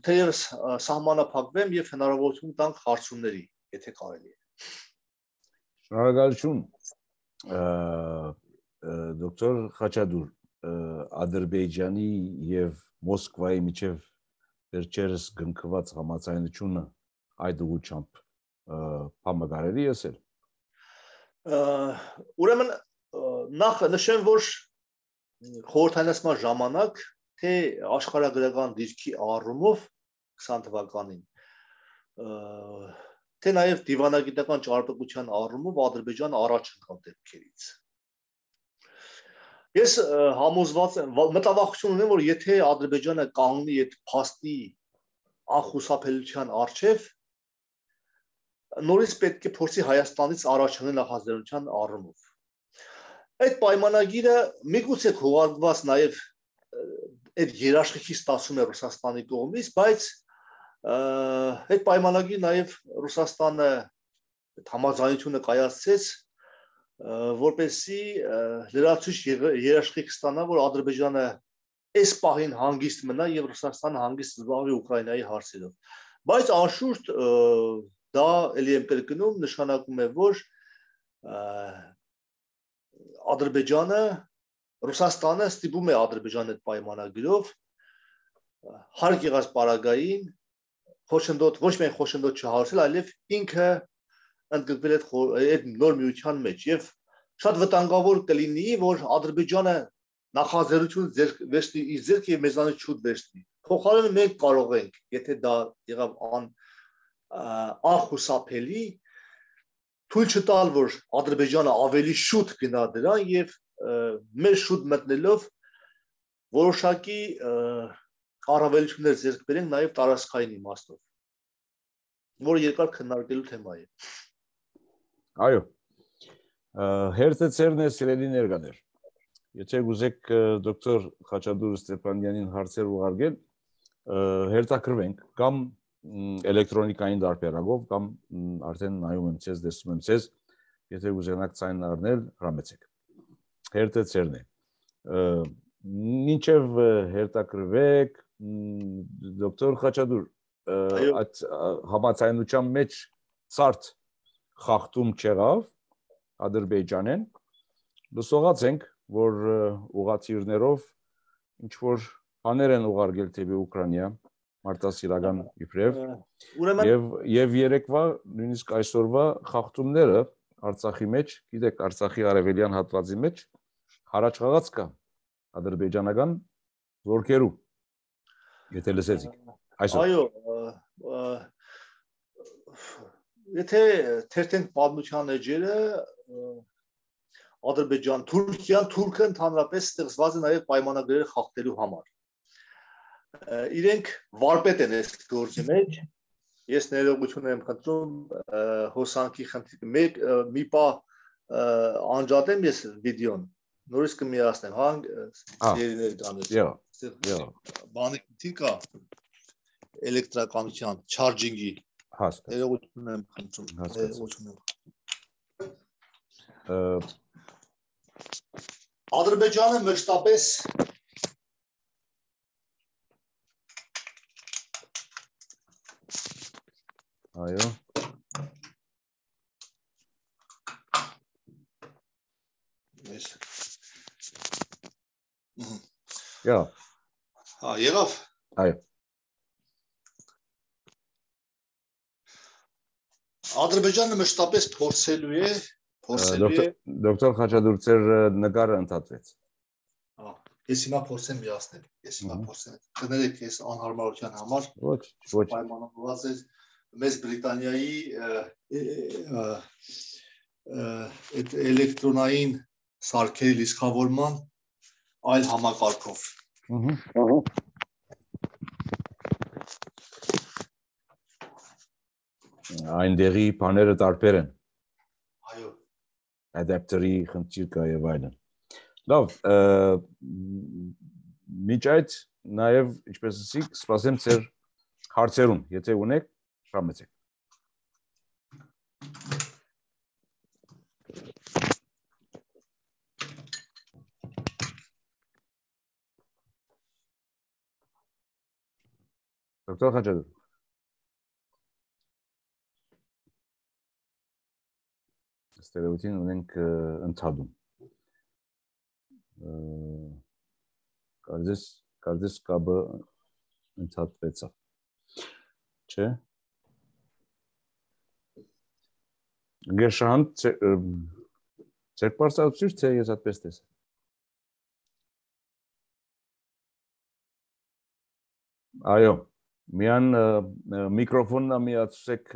թեևս սահմանափակվեմ եւ հնարավորություն տանք հարցումների, եթե կարելի է։ Շնորհակալություն, դոկտոր Խաչատուր, Ադրբեջանի եւ Մոսկվայի միջև վերջերս գնքված համաձայնությունը այդ ուղղությամբ համագարելի եսել։ Ուրեմն նախ նշեմ, որ խորհրդայնացման ժամանակ թե աշխարհագրական դիրքի առումով քսան թվականին, թե նաև դիվանագիտական ճարպկության առումով Ադրբեջանը առաջ ընկավ դեպքերից։ Ես համոզված եմ, մտավախություն ունեմ, որ եթե Ադրբեջանը կանգնի այդ փաստի անխուսափելիության առջև, նորից պետք է փորձի Հայաստանից առաջ ընկնել նախաձեռնության առումով։ Այդ պայմանագիրը միգուցե քողարկված նաև այդ երաշխիքի ստացում է Ռուսաստանի կողմից, բայց այդ պայմանագիրը նաև Ռուսաստանը համաձայնությունը կայացրեց, որպեսզի լրացուցիչ երաշխիք ստանա, որ Ադրբեջանը այս պահին հանգիստ մնա եւ Ռուսաստանը հանգիստ զբաղվի Ուկրաինայի հարցերով։ Բայց անշուշտ դա ելի եմ կրկնում, նշանակում է, որ Ադրբեջանը, Ռուսաստանը ստիպում է Ադրբեջանը այդ պայմանագրով հարկ եղած պարագային խոշնդոտ, ոչ միայն խոշնդոտ չհարցել, այլև ինքը ընդգրկվել այդ նոր միության մեջ եւ շատ վտանգավոր կլինի, որ Ադրբեջանը նախաձեռնություն վերցնի իր ձեռքը եւ մեզանից շուտ վերցնի։ Փոխարենը մենք կարող ենք, եթե դա եղավ ան անխուսափելի, թույլ չտալ, որ Ադրբեջանը ավելի շուտ գնա դրան եւ մեր շուտ մտնելով որոշակի առավելություններ ձեռք բերենք նաեւ տարածքային իմաստով, որը երկար քննարկելու թեմա է։ Այո, հերթեցերն է սիրելի ներկաներ։ Եթե գուզեք դոկտոր Խաչատուր Ստեփանյանին հարցեր ուղարկել, հերթակրվենք կամ էլեկտրոնիկային դարբերակով, կամ արդեն նայում եմ ցեզ, տեսնում եմ ցեզ, եթե գուզենաք ցայն առնել, հրամեցեք։ Հերթեցերն է։ Մինչև հերթակրվեք, դոկտոր Խաչատուր, այդ համաձայնության մեջ ցարտ խախտում չեղավ Ադրբեջանեն, լսողած ենք, որ ուղղաթիռներով ինչ որ բաներ են ուղարկել դեպի Ուկրաինա, մարտահրավերական իբրև, եւ եւ երեկվա, նույնիսկ այսօրվա խախտումները Արցախի մեջ, գիտեք, Արցախի արևելյան հատվածի մեջ հարաճ խաղաց կա ադրբեջանական զորքերու, եթե լսեցիք այսօր։ Այո, եթե թերթենք պատմության էջերը, Ադրբեջան, Թուրքիան, Թուրքը ընդհանրապես ստեղծված է նաև պայմանագրերը խախտելու համար։ Իրենք վարպետ են այս գործի մեջ։ Ես ներողություն եմ խնդրում, հոսանքի խնդիր, մեկ մի պա անջատեմ ես վիդեոն, նորից կմիացնեմ, հա, երիներ կանես։ Յա, յա։ Բանի քիչ կա էլեկտրականության, չարջինգի։ Հասկացա։ Ներողություն եմ խնդրում, ներողություն եմ։ Ադրբեջանը մշտապես Այո։ Ես։ Յա։ Հա, եղավ։ Այո։ Ադրբեջանը մշտապես փորձելու է, փորձելու է։ Դոկտոր Խաչատուր, ձեր նկարը ընդհատվեց։ Հա, ես հիմա փորձեմ միացնել։ Ես հիմա փորձեմ։ Կներեք, ես անհարմարության համար Ոչ, ոչ։ պայմանավորված է Մեծ Բրիտանիայի այդ էլեկտրոնային սարքերի լիցքավորման այլ համակարգով։ Այն դեղի բաները տարբեր են։ Այո։ Adapter-ի խնդիր կա եւ այլն։ Լավ, միջ այդ նաեւ ինչպես ասիք, սպասեմ ձեր հարցերուն, եթե ունեք, շամեցեք։ Դոկտոր Խաչատուր։ Ստերեոտին ունենք ընդհատում։ Կարծես, կարծես կաբը ընդհատվեցավ։ Չէ։ Գերշանտ ձեր պարզացուցիչ թե ես այդպես տեսա։ Այո, միան միկրոֆոնն միացեք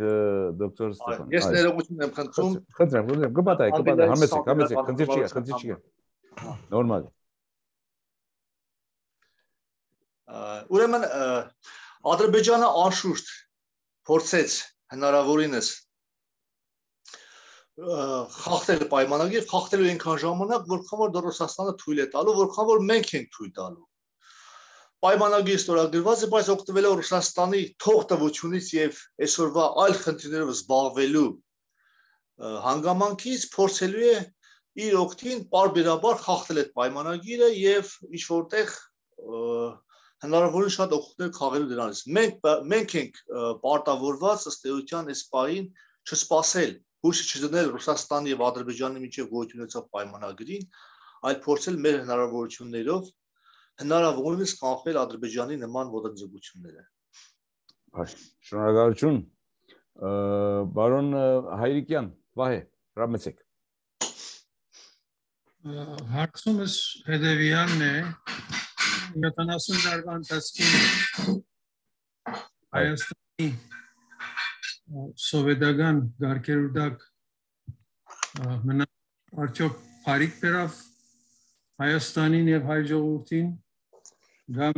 դոկտոր Ստեփան։ Ես ներողություն եմ խնդրում։ Խնդրեմ, խնդրեմ, կպատահի, կպատահի, համեցեք, համեցեք, խնդիր չի, խնդիր չի։ Նորմալ։ Ուրեմն Ադրբեջանը անշուշտ փորձեց հնարավորինս խախտել պայմանագիր, խախտելու այնքան ժամանակ, որքան որ Ռուսաստանը թույլ է տալու, որքան որ մենք ենք թույլ տալու։ Պայմանագիր ստորագրված է, բայց օգտվելով Ռուսաստանի թողտվությունից եւ այսօրվա այլ խնդիրներով զբաղվելու հանգամանքից փորձելու է իր օգտին պարբերաբար խախտել այդ պայմանագիրը եւ ինչ որտեղ հնարավորին շատ օգուտներ քաղելու դրանից։ Մենք մենք ենք պարտավորված ըստ էության այս պահին չսպասել, հույս չդնել Ռուսաստանի եւ Ադրբեջանի միջև գոյություն ունեցող պայմանագրին, այլ փորձել մեր հնարավորություններով հնարավորինս կանխել Ադրբեջանի նման ոտնձգությունները։ Շնորհակալություն։ Բարոն Հայրիկյան, Վահե, հրամեցեք։ Հարցումս հետևյալն է, յոթանասուն տարվա ընթացքում Հայաստանի սովետական գարկերուդակ մնա արդյոք բարիք բերավ Հայաստանին եւ հայ ժողովրդին կամ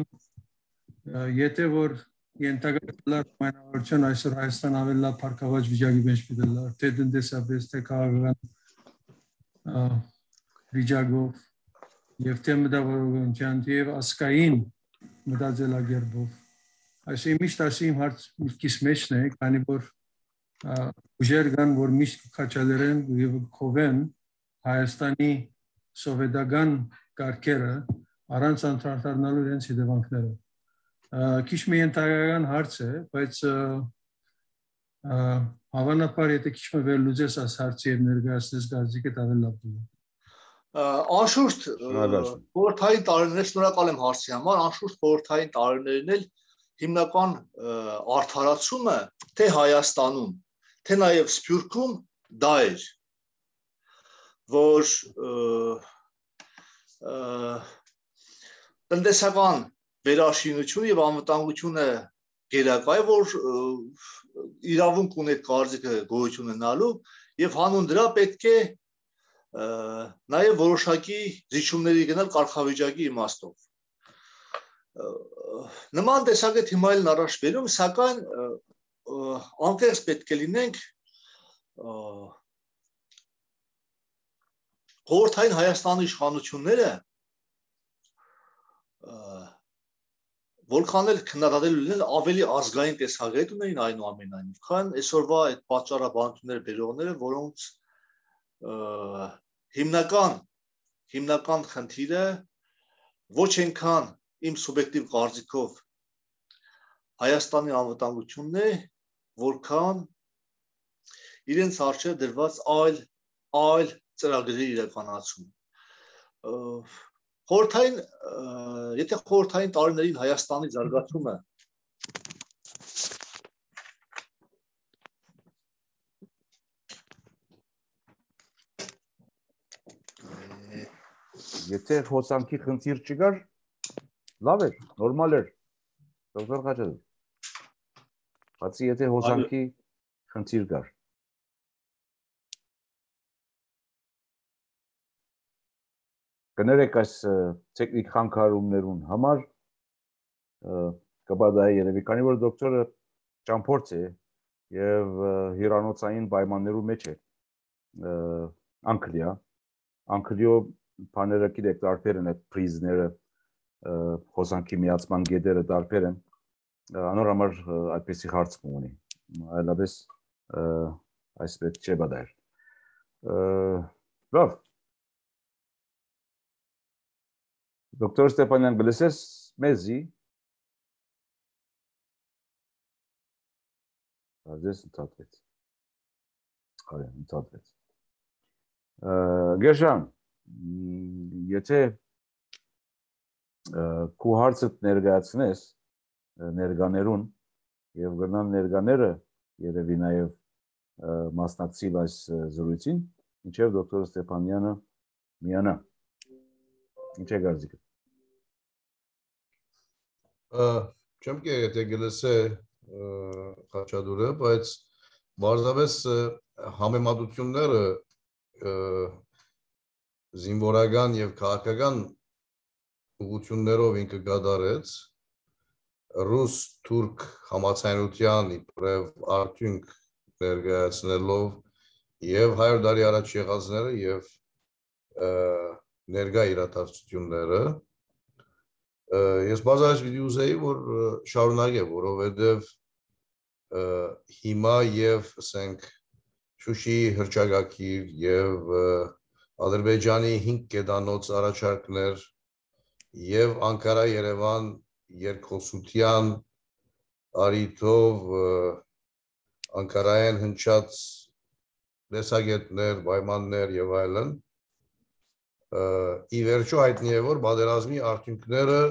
եթե որ ենթակայքլար մանավարություն այսօր Հայաստան ավելի լավ փառքավաճ վիճակի մեջ պիտելար, թե տնտեսապես, թե քաղաքական վիճակով եւ թե մտավորականության եւ ասկային մտածելակերպով։ Այսինքն միշտ ասիմ հարց միշտիս մեջն է, քանի որ ուժեր կան, որ միշտ քաչալերեն եւ կովեն Հայաստանի սովետական կարգերը առանց անդրադառնալու իրենց հետևանքները։ Քիչ մի ենթակայական հարց է, բայց հավանաբար եթե քիչ մը վերլուծես այս հարցի եւ ներկայացնես գազիկը ավելի լավ կլինի։ Անշուշտ խորհրդային տարիներ, շնորհակալ եմ հարցի համար, անշուշտ խորհրդային տարիներն էլ հիմնական արդարացումը թե Հայաստանում, թե նաեւ Սփյուռքում դա էր, որ տնտեսական վերաշինությունը եւ անվտանգությունը գերակա է, որ իրավունք ունի այդ կարծիքը գոյություն ունենալու եւ հանուն դրա պետք է նաեւ որոշակի զիջումների գնալ կարգավիճակի իմաստով։ Նման տեսակետ հիմա էլ առաջ բերում, սակայն անկեղծ պետք է լինենք խորհրդային Հայաստանի իշխանությունները որքան էլ քննադատելու լինել ավելի ազգային տեսակետ ունեին այնուամենայնիվ, քան այսօրվա այդ պատճառաբանությունները բերողները, որոնց հիմնական հիմնական խնդիրը ոչ այնքան իմ սուբյեկտիվ կարծիքով Հայաստանի անվտանգությունն է, որքան իրենց առջև դրված այլ այլ ծրագրերի իրականացում։ Խորհրդային, եթե խորհրդային տարիներին Հայաստանի զարգացումը Եթե հոսանքի խնդիր չկար, լավ էր, նորմալ էր։ Դոկտոր Խաչատուր։ Բացի եթե հոսանքի խնդիր կար։ կներեք այս տեխնիկ խանգարումներուն համար կբադայի երևի, քանի որ դոկտորը ճամփորձ է եւ հիրանոցային պայմաններու մեջ է Անգլիա Անգլիո բաները գիտեք տարբեր են այդ պրիզները հոսանքի միացման գետերը տարբեր են անոր համար այդպեսի հարց ունի այլապես այսպես չէ բադայր լավ դոկտոր Ստեփանյան գլսես մեզի Здесь ընդհատվեց։ Այո, ընդհատվեց։ Գերժան, եթե քու հարցը ներկայացնես ներկաներուն եւ գնան ներկաները երևի նաեւ մասնակցի այս զրույցին, ինչեւ դոկտոր Ստեփանյանը միանա։ Ինչ է գարզիկը։ Չեմ կե եթե գլսե Խաչատուրը, բայց բարձրապես համեմատությունները զինվորական եւ քաղաքական ուղղություններով ինքը գդարեց ռուս-թուրք համացանության իբրև արդյունք ներկայացնելով եւ հայր դարի առաջ եղածները եւ ներկա իրադարձությունները Ես բազայս պիտի ուզեի, որ շարունակե, որովհետև հիմա եւ ասենք Շուշիի հռչակագիր եւ Ադրբեջանի հինգ կետանոց առաջարկներ եւ Անկարա-Երևան երկխոսության արիթով Անկարայեն հնչած լեսագետներ, պայմաններ եւ այլն ի վերջո հայտնի է որ պատերազմի արդյունքները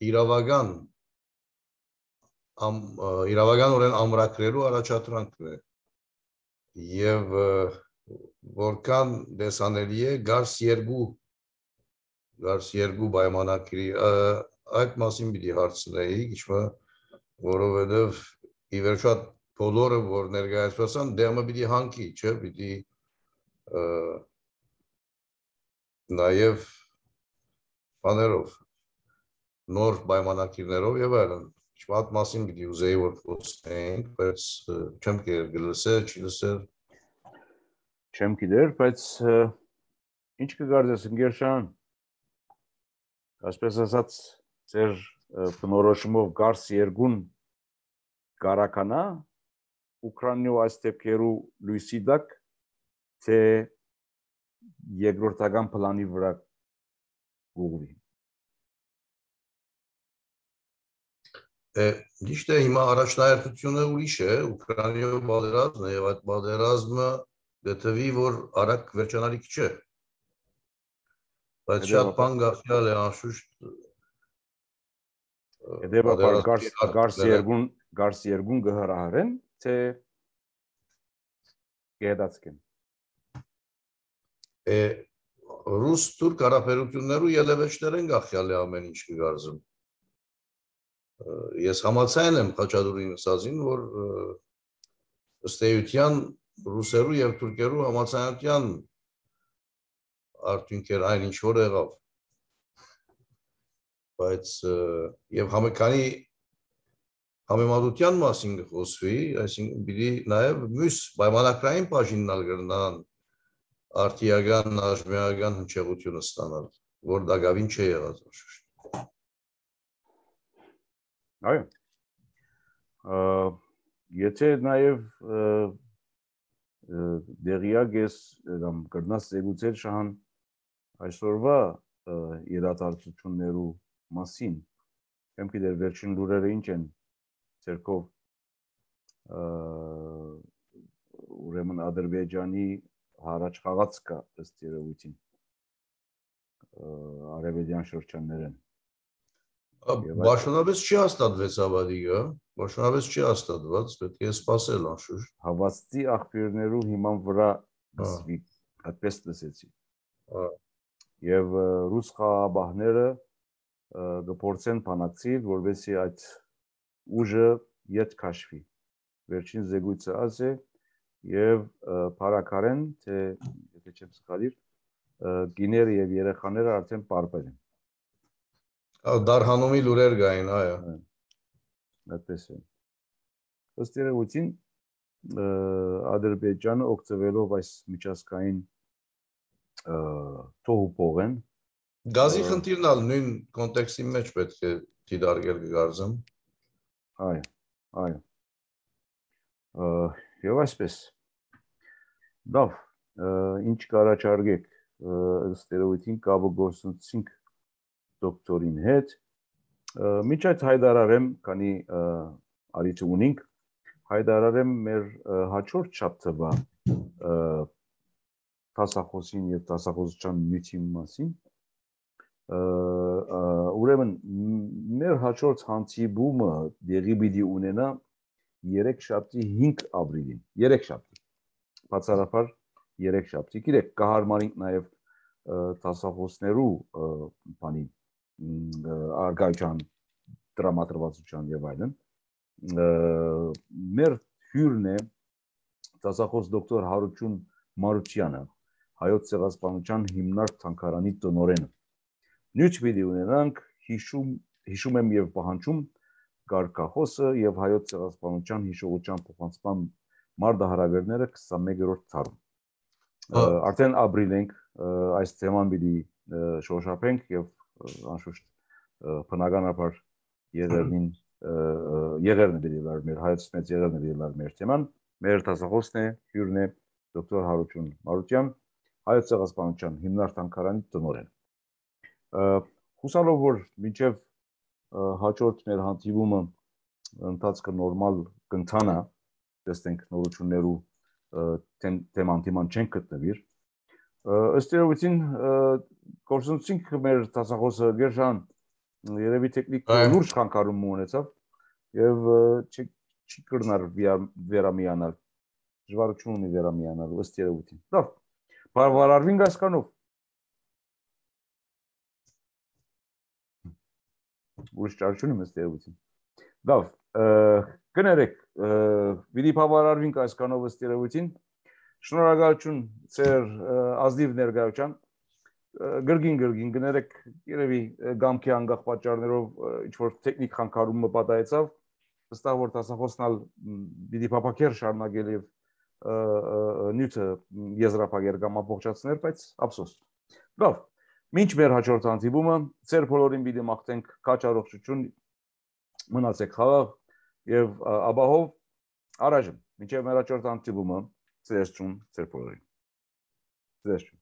իրավական իրավականորեն ամրագրելու առաջադրանքն է եւ որքան դեսանելի է գարս երկու գարս երկու պայմանագրի այդ մասին պիտի հարցնեի իշխը որովհետեւ ի վերջո բոլորը որ ներկայացվեցան դեմը պիտի հանքի չէ պիտի Նաև բաներով նոր պայմանագրերով եւ այլն շատ մասին պիտի ուզեի որ խոսենք բայց չեմ գլսել չի լսել չեմ գիտեր բայց ինչ կգարձես Գերշան այսպես ասած ձեր բնորոշումով գարս երկուն կարականա Ուկրաինայով այս դեպքերու լույսի դակ թե երկրորդական պլանի վրա ուղղվի։ Ճիշտ է, հիմա առաջնահերթությունը ուրիշ է, Ուկրաինայով պատերազմն է եւ այդ պատերազմը դեպի որ արագ վերջանալիք չէ։ Բայց շատ բան գաղտնիալ է անշուշտ Հետևաբար գարս երկուն գարս երկուն գհրահարեն թե գեդացկեն Ռուս-թուրք հարաբերություններու ելևէջներ են գախյալ է ամեն ինչ կգարզում։ Ես համաձայն եմ Խաչատուրին ասածին, որ ըստ էության ռուսերու եւ թուրքերու համաձայնության արդյունքեր այն ինչ որ եղավ։ Բայց եւ համեկանի համեմատության մասին կխոսվի, այսինքն պիտի նաեւ մյուս պայմանագրային բաժիննալ կրնան արտիական, աժմիական հնչեղությունը ստանալ, որ դակավին չէ եղած անշուշտ։ Այո։ Եթե նաև դեղիակ ես կամ կրնաս զեկուցել շահան այսօրվա իրադարձություններու մասին, եմ գիտեր վերջին լուրերը ինչ են ցերկով ուրեմն Ադրբեջանի հարաճ խաղաց կա ըստ երևույթին արևելյան շրջաններեն Բաշնապես չի հաստատվեց ավադիկը, բաշնապես չի հաստատված, պետք է սպասել անշուշտ։ Հավաստի աղբյուրներու հիման վրա գսվի, այդպես լսեցի։ Եվ ռուս խաղաբահները կփորձեն բանակցել, որովհետեւ այդ ուժը ետ քաշվի։ Վերջին զեկույցը աս է եւ բարակարեն թե եթե չեմ սխալիր գիները եւ երեխաները արդեն պարբեր են։ Դարհանումի լուրեր գային, այո։ Այդպես է։ Ըստ երևույթին Ադրբեջանը օգտվելով այս միջազգային թոհուփողեն Գազի խնդիրն ալ նույն կոնտեքստի մեջ պետք է դիտարկել գարզեմ։ Այո, այո։ Եվ այսպես։ Լավ, ինչ կառաջարկեք ըստ երևույթին կապը գործունեություն դոկտորին հետ։ Միջ այդ հայտարարեմ, քանի արիթ ունենք, հայտարարեմ մեր հաջորդ շաբթվա դասախոսին եւ դասախոսության նյութի մասին։ Ուրեմն մեր հաջորդ հանդիպումը դեղի պիտի ունենա երեքշաբթի հինգ ապրիլին, երեքշաբթի։ Բացառապես երեքշաբթի։ Գիտեք, կհարմարենք նաեւ դասախոսներու բանի արգայության դրամատրվածության եւ այլն։ Մեր հյուրն է դասախոս դոկտոր Հարություն Մարությանը, հայոց ցեղասպանության հիմնարկ թանգարանի տնօրենը։ Նյութ պիտի ունենանք հիշում հիշում եմ եւ պահանջում կարգախոսը եւ հայոց ցեղասպանության հիշողության փոխանցման մարտահրավերները քսանմեկերորդ թարմ։ Արդեն ապրիլ ենք այս թեման պիտի շոշափենք եւ անշուշտ բնականաբար եղերնին եղերնը պիտի լար մեր հայոց մեծ եղերնը պիտի լար մեր թեման։ Մեր դասախոսն է հյուրն է դոկտոր Հարություն Մարության, հայոց ցեղասպանության հիմնարկ թանգարանի տնօրեն։ Հուսալով որ մինչև հաջորդ մեր հանդիպումը ընթացքը նորմալ կընթանա, տեսնենք նորություններու թեման թեման չեն գտնվիր։ Ըստ երևույթին գործունեություն մեր դասախոսը Գերժան երևի տեխնիկ լուրջ խանգարում ունեցավ եւ չի կրնար վերամիանալ, դժվարություն ունի վերամիանալ ըստ երևույթին։ Լավ, բարվարարվինք այսքանով։ Ուրիշ ճարություն եմ ըստ երևույթին։ Լավ, կներեք, պիտի բավարարվինք այսքանով ըստ երևույթին։ Շնորհակալություն ձեր ազնիվ ներկայության։ Գրգին գրգին կներեք, երևի գամքի անկախ պատճառներով ինչ-որ տեխնիկ խանգարումը պատահեցավ, վստահ որ դասախոսնալ պիտի փափաքեր շարունակել եւ նյութը եզրափակեր կամ ամբողջացներ, բայց ափսոս։ Լավ, մինչ մեր հաջորդ հանդիպումը, ձեր բոլորին պիտի մաղթենք քաջ առողջություն, մնացեք խաղաղ եւ ապահով առայժմ մինչեւ մեր հաջորդ հանդիպումը, ձեզ ճուն, ձեր բոլորին։ Ձեզ ճուն։